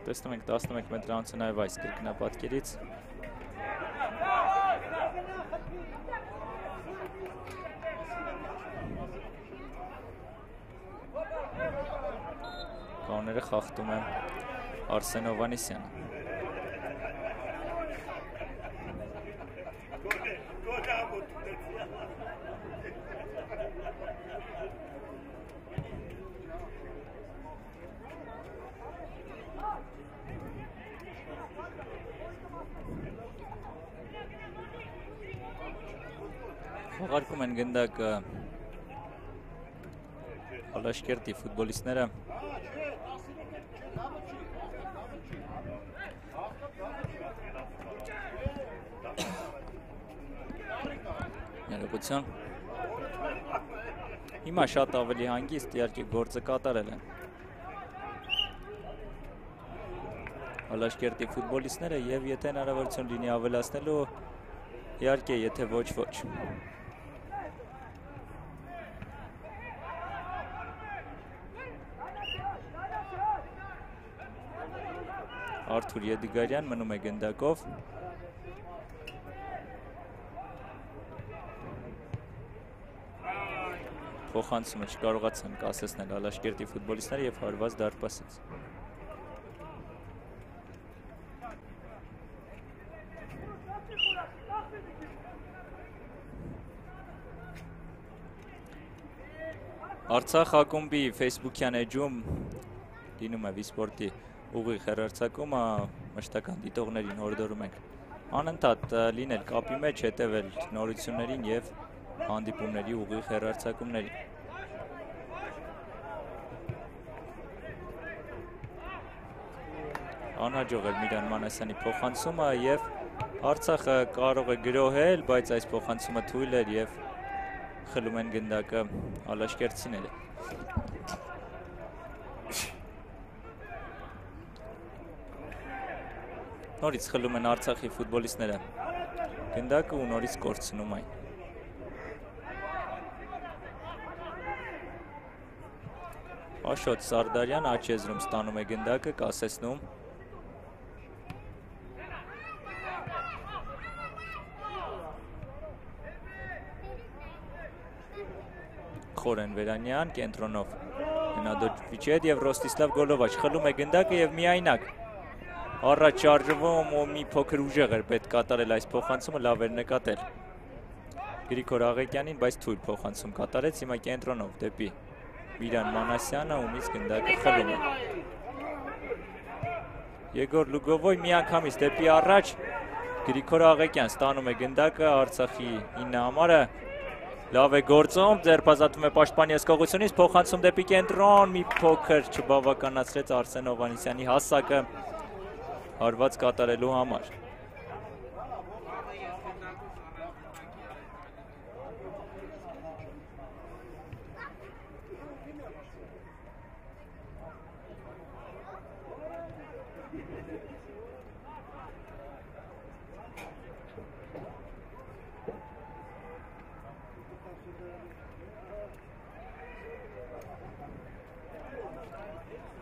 Տեսնում ենք 11 մետրանոցը նաև այս կրկնապատկերից։ Կանոնները խախտում է Արսեն Հովհաննիսյանը։ Խաղարկում են գնդակ Ալաշկերտի ֆուտբոլիստները։ Ներողություն։ Հիմա շատ ավելի հանգիստ իհարկե գործը կատարել են Ալաշկերտի ֆուտբոլիստները եւ եթե հնարավորություն լինի ավելացնելու, իհարկե եթե ոչ։ Արթուր Եդիգարյան մնում է գնդակով։ Փոխանցումը չկարողացան կասեցնել Ալաշկերտի ֆուտբոլիստները եւ հարված դարպասից։ Արցախ ակումբի Facebook-յան էջում լինում է Վիսպորտի ուղիղ հեռարձակումը, մշտական դիտողներին հորդորում ենք անընդհատ լինել կապի մեջ, հետևել նորություններին եւ հանդիպումների ուղիղ հեռարձակումներին։ Անհաջող էր Միրան Մանասյանի փոխանցումը եւ Արցախը կարող է գրոհել, բայց այս փոխանցումը թույլ էր եւ խլում են գնդակը ալաշկերտցիները։ Նորից խլում են Արցախի ֆուտբոլիստները գնդակը ու նորից կորցնում այն։ Աշոտ Սարդարյան աչեզրում ստանում է գնդակը, կասեցնում։ Խորեն Վերանյան կենտրոնով Նենադովիչ հետ եւ Ռոստիսլավ Գոլովաչ խլում է գնդակը եւ միայնակ առաջ շարժվում ու մի փոքր ուժեղ էր պետք կատարել այս փոխանցումը, լավ էր նկատել Գրիգոր Աղեկյանին, բայց թույլ փոխանցում կատարեց, հիմա կենտրոնով դեպի Միրան Մանասյանը, ումից գնդակը խլում է։ Եգոր Լուգովոյ միանգամից դեպի առաջ Գրիգոր Աղեկյան ստանում է գնդակը, Արցախի 9 համարը լավ է գործում, ձերբազատվում է պաշտպանի հսկողությունից, փոխանցում դեպի կենտրոն, մի փոքր չբավականացրեց Արսեն Հովհաննիսյանի հասակը հարված կատարելու համար։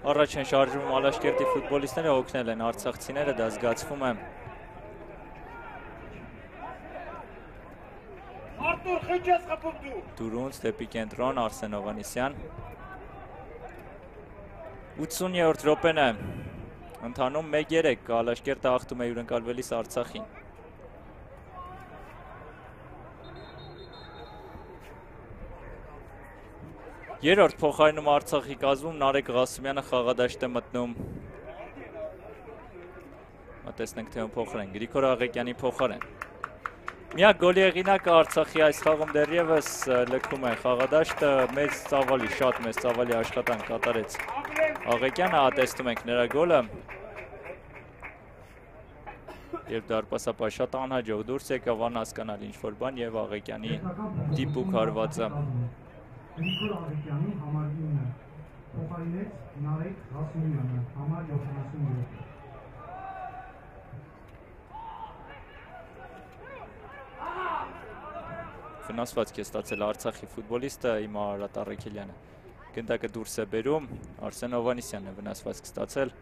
Առաջ են շարժվում Ալաշկերտի ֆուտբոլիստները, օգնել են արցախցիները, դա զգացվում է։ Արտուր խիճես խփում դու։ Դուրունց դեպի կենտրոն Արսեն Հովհաննիսյան։ 80-րդ րոպեն է ընթանում 1-3, Ալաշկերտը հաղթում է հյուրընկալվելիս Արցախին։ Երրորդ փոխարինում Արցախի կազմում Նարեկ Ղասումյանը խաղադաշտ է մտնում։ Տեսնենք թե ում փոխարեն, Գրիգոր Աղեկյանի փոխարեն։ Միակ գոլի հեղինակը Արցախի այս խաղում դեռևս լքում է խաղադաշտը, շատ մեծ ծավալի աշխատանք կատարեց Աղեկյանը, տեսնում ենք նրա գոլը։ Երբ դարպասապահ շատ անհաջող դուրս եկավ, անհասկանալ ինչ-որ բան եւ Աղեկյանի դիպուկ հարվածը։ Գրիգոր Աղեկյանի համար 9 փոխարինեց Նարեկ Ղասումյանը համար 77։ Վնասվածք է ստացել Արցախի ֆուտբոլիստը Իմա Արարատ Առաքելյանը։ Գնդակը դուրս է բերում, Արսեն Հովհաննիսյանն է վնասվածք ստացել։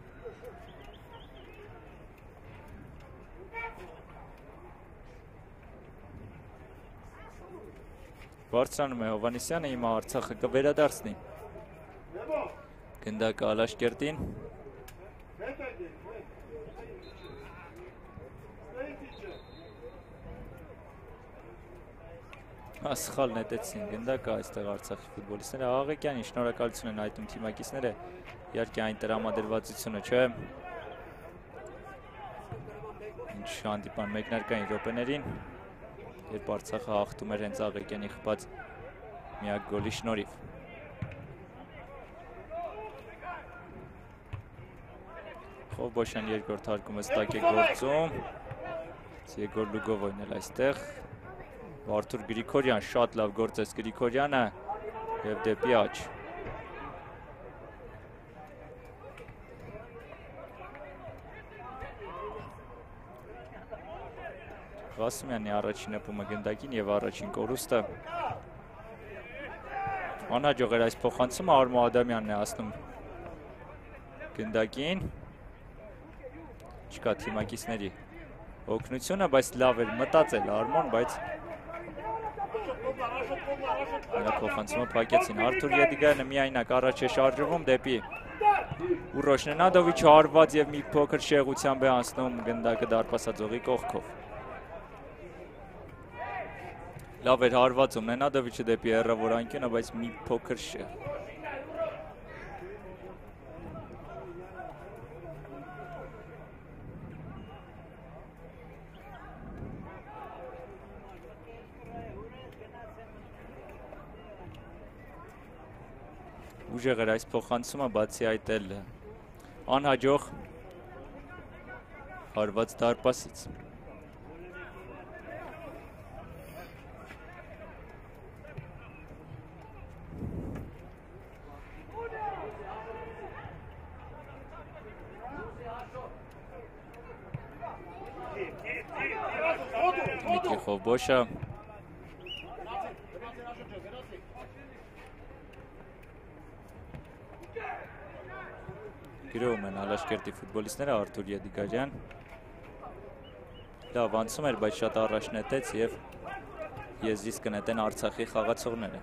Բարձրանում է Հովհաննիսյանը, Իմա Արցախը կվերադարձնի։ Գնդակը Ալաշկերտին։ Սխալ նետեցին գնդակը այստեղ Արցախի ֆուտբոլիստները, Աղեկյանի շնորհակալություն են այդում թիմակիցները, իհարկե այն տրամադրվածությունը չէ։ Ինչ հանդիպան մեկնարկային րոպեներին, երբ Արցախը հաղթում էր հենց Աղեկյանի խփած միակ գոլի շնորհիվ։ Խովբոշյան երկրորդ հարկումը ստակ է գործում, Եգոր Լուգովոյն էլ այստեղ։ Արթուր Գրիգորյան, շատ լավ գործեց Գրիգորյանը և դեպի աջ։ Ղասումյանի առաջին հպումը գնդակին և առաջին կորուստը։ Անհաջող էր այս փոխանցումը, Արմո Ադամյանն է ասնում գնդակին։ Չկա թիմակիցների օգնությունը, բայց լավ էր մտածել Արմոն, բայց նրա փոխանցումը փակեցին։ Արթուր Եդիգայանը միայնակ առաջ է շարժվում դեպի Ուռոշ Նենադովիչը, հարված և մի փոքր շեղությամբ է անցնում գնդակը դարպասաձողի կողքով։ Լավ էր հարվածում Նենադովիչը դեպի հեռավոր անկյունը, բայց մի փոքր շեղ։ Ուժեղ էր այս փոխանցումը, բացի այդ էլ անհաջող հարված դարպասից։ Դմիտրի Խովբոշը գրոում են Ալաշկերտի ֆուտբոլիստները, Արթուր Եդիգարյան լավ անցում էր, բայց շատ առաջ նետեց և եզրից կնետեն Արցախի խաղացողները։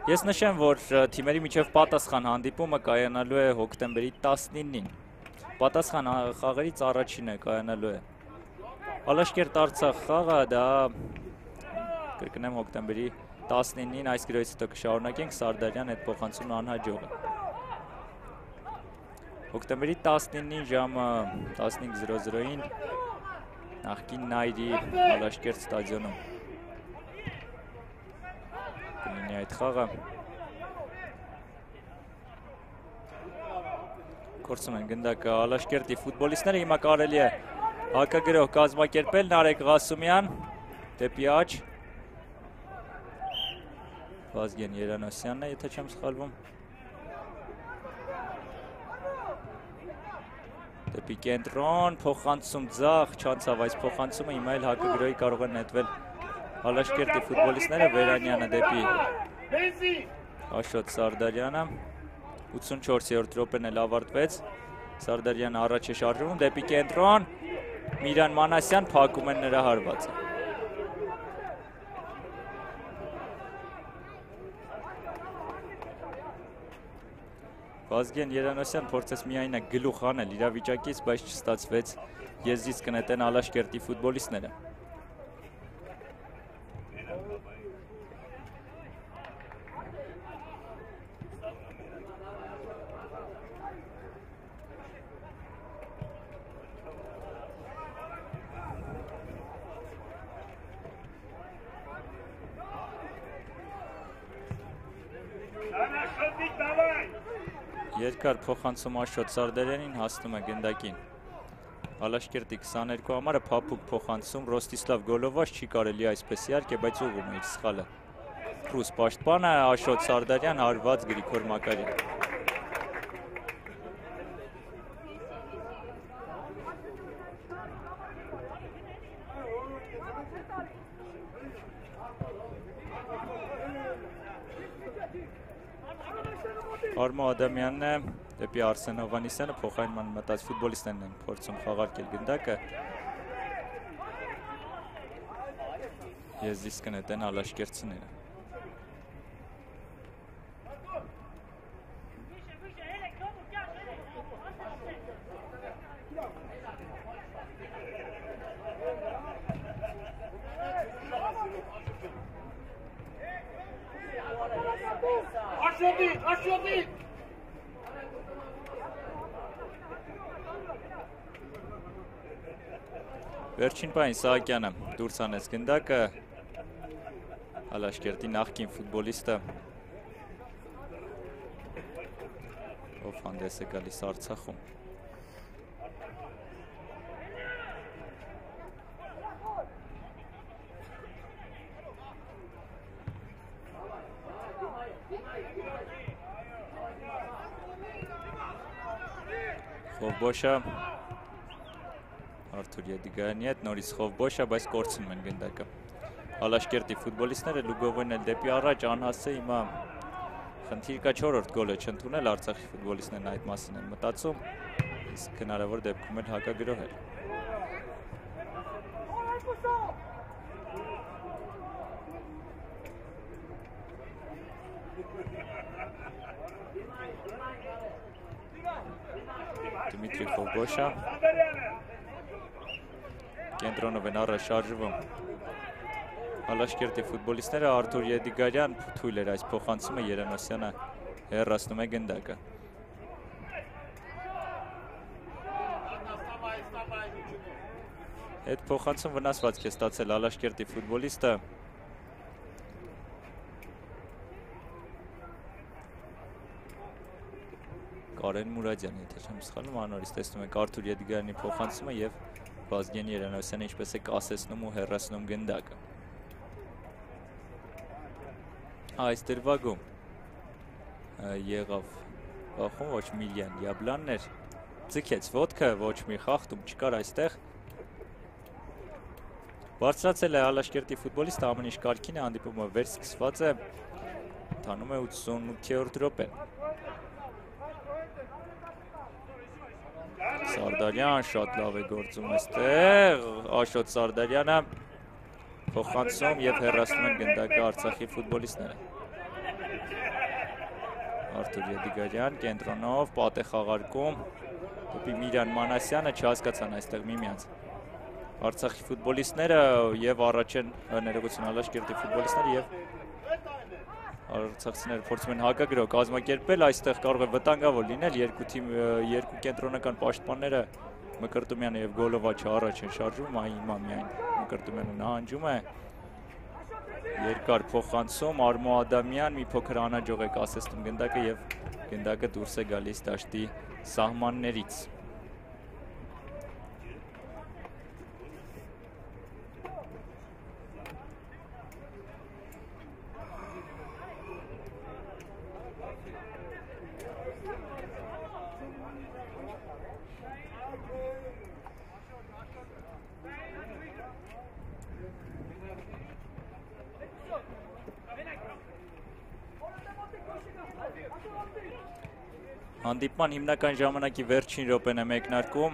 Ես նշեմ, որ թիմերի միջև պատասխան հանդիպումը կայանալու է հոկտեմբերի 19-ին։ Պատասխան խաղերից առաջինը կայանալու է Ալաշկերտ Արցախ խաղը, դա կրկնեմ հոկտեմբերի 19-ին, այս գրոյից հետո կշարունակենք, Սարդարյան այդ փոխանցումն անհաջող է։ Հոկտեմբերի 19-ին ժամը 15:00-ին նախկին Նայրի Ալաշկերտ ստադիոնում կլինի այդ խաղը։ Կորցնում են գնդակը Ալաշկերտի ֆուտբոլիստները, հիմա կարելի է հակագրոհ կազմակերպել, Նարեկ Ղասումյան դեպի աջ, Վազգեն Երանոսյանն է, եթե չեմ սխալվում, դեպի կենտրոն, փոխանցում ձախ, չանցավ այս փոխանցումը, հիմա էլ հակագրոհի կարող են նետվել Ալաշկերտի ֆուտբոլիստները, Վերանյանը դեպի Աշոտ Սարդարյանը, 84-րդ րոպեն էլ ավարտվեց, Սարդարյանը առաջ է շարժվում, դեպի կենտրոն, Միրան Մանասյան փակում են նրա հարվածը։ Վազգեն Երանոսյան փորձեց միայնակ գլուխ անել իրավիճակից, բայց չստացվեց, եզրից կնետեն Ալաշկերտի ֆուտբոլիստները։ Երկար փոխանցում Աշոտ Սարդարյանին, հասնում է գնդակին։ Ալաշկերտի 22 համարը փափուկ փոխանցում Ռոստիսլավ Գոլովաշ, չի կարելի այսպես իհարկե, բայց ուղղում է իր սխալը։ Ռուս պաշտպանը Աշոտ Սարդարյան, հարված Գրիգոր Մակարյան։ Արմո Ադամյանն է դեպի Արսեն Հովանիսյանը, փոխարինման մտած ֆուտբոլիստներն են փորձում խաղարկել գնդակը։ Եզիս կնետեն ալաշկերտցիները։ Վերջին պայն Սահակյանը դուրս անեց գնդակը, Ալաշկերտի նախկին ֆուտբոլիստը, ով հանդես է գալիս Արցախում։ Խովբոշը Արթուր Եդիգայանի հետ նորից Խովբոշը, բայց կորցնում են գնդակը։ Ալաշկերտի ֆուտբոլիստները լուգովեն էլ դեպի առաջ, անհասցե հիմա խնդիր կա 4-րդ գոլը չընդունել, Արցախի ֆուտբոլիստներն այդ մասին են մտածում, իսկ հնարավոր դեպքում էլ հակագրոհել։ Դմիտրի Խովբոշը կենտրոնով են առաջ շարժվում Ալաշկերտի ֆուտբոլիստները, Արթուր Եդիգարյան թույլ էր այս փոխանցումը, Երանոսյանը հեռացնում է գնդակը։ Այդ փոխանցում վնասվածք է ստացել Ալաշկերտի ֆուտբոլիստը։ Կարեն Մուրադյան, եթե չեմ սխալվում, անորից տեսնում եք Արթուր Եդիգարյանի փոխանցումը եւ Վազգեն Երանոսյանը ինչպես է կասեցնում ու հեռացնում գնդակը։ Այս դրվագում եղավ բախում, ոչ Միլյան Յաբլանն էր, ձգեց ոտքը, ոչ մի խախտում չկար այստեղ։ Բարձրացել է Ալաշկերտի ֆուտբոլիստը, ամեն ինչ կարգին է, հանդիպումը վերսկսված է, ընթանում է 88-րդ րոպեն։ Սարդարյան շատ լավ է գործում այստեղ, Աշոտ Սարդարյանը փոխանցում եւ հեռացնում են գնդակը Արցախի ֆուտբոլիստները։ Արթուր Եդիգարյան կենտրոնով պատ է խաղարկում դեպի Միրան Մանասյանը, չհասկացան այստեղ միմյանց Արցախի ֆուտբոլիստները եւ առաջ են ներողություն Ալաշկերտի ֆուտբոլիստները եւ արցախցիները փորձում են հակագրոհ կազմակերպել, այստեղ կարող է վտանգավոր լինել, երկու կենտրոնական պաշտպանները Մկրտումյանը եւ Գոլովաչը առաջ են շարժվում, հիմա միայն Մկրտումյանը նահանջում է։ Երկար փոխանցում, Արմո Ադամյան մի փոքր անհաջող է կասեցնում գնդակը եւ գնդակը դուրս է գալիս դաշտի սահմաններից։ Հանդիպման հիմնական ժամանակի վերջին րոպեն է մեկնարկում։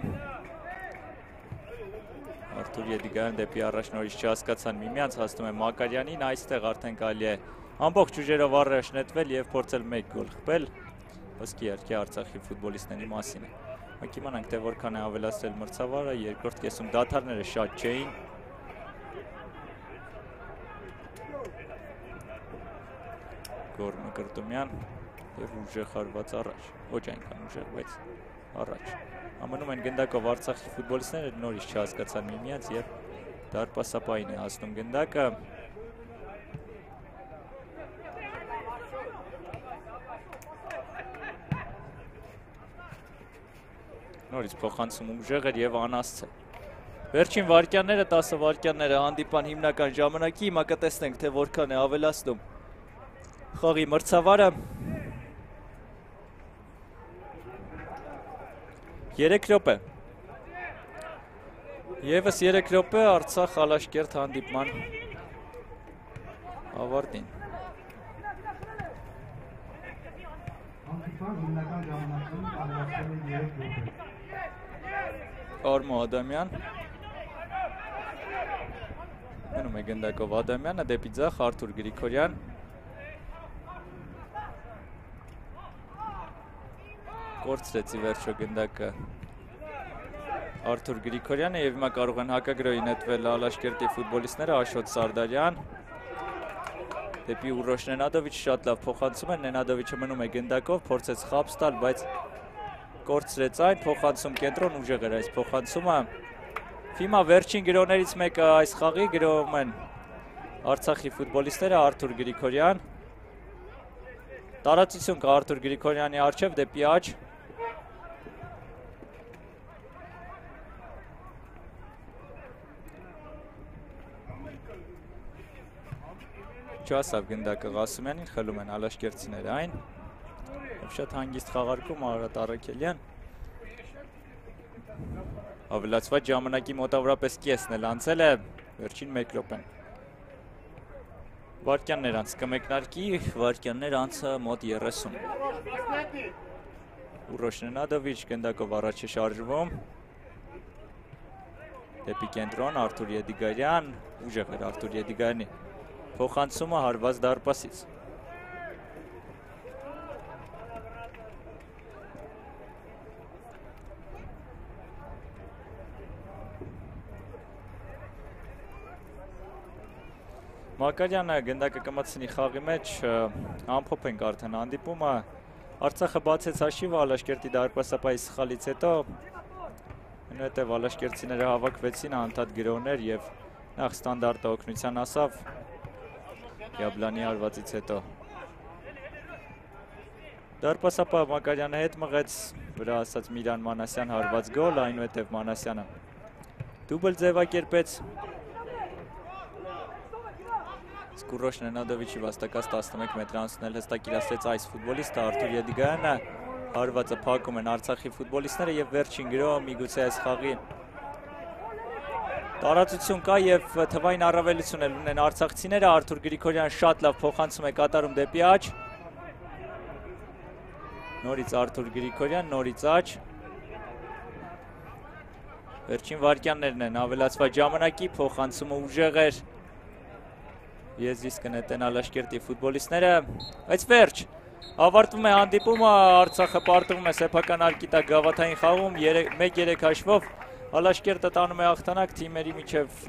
Արթուր Եդիգարյան դեպի առաջ նորից չհասկացան միմյանց, հասնում է Մակարյանին, այստեղ արդեն կարելի է ամբողջ ուժերով առաջ նետվել եւ փորձել 1 գոլ խփել։ Ոսկի իհարկե Արցախի ֆուտբոլիստների մասին է։ Մենք իմանանք, թե որքան է ավելացրել մրցավարը, երկրորդ կեսում դադարները շատ չէին։ Գոր Մկրտումյան եւ ուժեղ հարված առաջ, ոչ այնքան ուժեղ, բայց առաջ։ Ամնում են գնդակով Արցախի ֆուտբոլիստները, նորից չհասկացան միմյանց եւ դարպասապային է հասնում գնդակը։ Նորից փոխանցում ուժեղեր եւ անասցե։ Վերջին վարկյանները 10 վարկյանները հանդիպան հիմնական ժամանակի, հիմա կտեսնենք թե որքան է ավելացնում խաղի մրցավարը։ 3 րոպե։ Եվս 3 րոպե Արցախ Ալաշկերտ հանդիպման ավարտին։ Հանդիպան հիմնական ժամանակում ավելացել է 3 րոպե։ Արմո Ադամյան։ Մնում է գնդակով Ադամյանը դեպի ձախ Արթուր Գրիգորյան։ Կորցրեց ի վերջո գնդակը Արթուր Գրիգորյանը եւ հիմա կարող են հակագրոյի նետվել Ալաշկերտի ֆուտբոլիստները Աշոտ Սարդարյան դեպի Ուռոշ Նենադովիչ շատ լավ փոխանցում է Նենադովիչը մնում է գնդակով փորձեց խաբս տալ բայց կորցրեց այն փոխանցում կենտրոն ուժեղ էր այս փոխանցումը Հիմա վերջին գրոներից մեկը այս խաղի գրովում են Արցախի ֆուտբոլիստները Արթուր Գրիգորյան տարածություն կա Արթուր Գրիգորյանի առջև դեպի աջ Չասավ գնդակը Ղասումյանին խլում են Ալաշկերտցիները այն շատ հանգիստ խաղարկում Արարատ Առաքելյան Ավելացված ժամանակի մոտավորապես կեսն էլ անցել է վերջին 1 րոպեն Վարկյաններ անց կմեկնարկի վարկյաններ անցը մոտ 30 Ուռոշ Նենադովիչ գնդակով առաջ է շարժվում դեպի կենտրոն Արթուր Եդիգարյան ուժեղ էր Արթուր Եդիգարյանի փոխանցումը հարված դարպասից Մակարյանը գնդակը կմտցնի խաղի մեջ ամփոփ ենք արդեն հանդիպումը Արցախը բացեց հաշիվը Ալաշկերտի դարպասապայի սխալից հետո այնուհետև Ալաշկերտցիները հավաքվեցին անդադ գրոներ եւ նախ ստանդարտը օգնության ասավ Յաբլանի հարվածից հետո Դարպասապա Մակարյանը հետ մղեց վրա ասած Միրան Մանասյան հարված գոլ այնուհետև Մանասյանը դուբլ ձևակերպեց Ուռոշ Նենադովիչի վաստակած 11 մետր անցնել հստակ իրացրեց այս ֆուտբոլիստը Արթուր Եդիգարյանը հարվածը փակում են Արցախի ֆուտբոլիստները եւ վերջին գրոհը միգուցե այս խաղի տարածություն կա եւ թվային առավելություն էլ ունեն արցախցիները Արթուր Գրիգորյանը շատ լավ փոխանցում է կատարում դեպի աջ նորից Արթուր Գրիգորյան նորից աջ վերջին վարկյաններն են ավելացված ժամանակի փոխանցումը ուժեղ էր Եզրից կնետեն Ալաշկերտի ֆուտբոլիստները, բայց վերջ, ավարտվում է հանդիպումը, Արցախը պարտվում է սեփական արկիտակ գավաթային խաղում, 1-3 հաշվով, Ալաշկերտը տանում է հաղթանակ, թիմերի միջև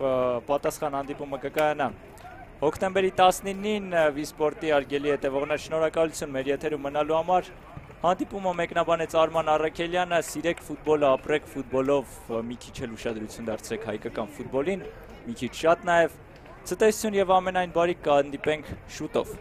պատասխան հանդիպումը կկայանա։ Հոկտեմբերի 19-ին Վիսպորտի արգելի հետևողներ շնորհակալություն մեր եթերում մնալու համար, հանդիպումը մեկնաբանեց Արման Առաքելյանը, սիրեք ֆուտբոլը, ապրեք ֆուտբոլով, մի քիչ էլ ուշադրություն դարձրեք հայկական ֆուտբոլին, մի քիչ շատ նաև Ցտեսություն եւ ամենայն բարիք կհանդիպենք շուտով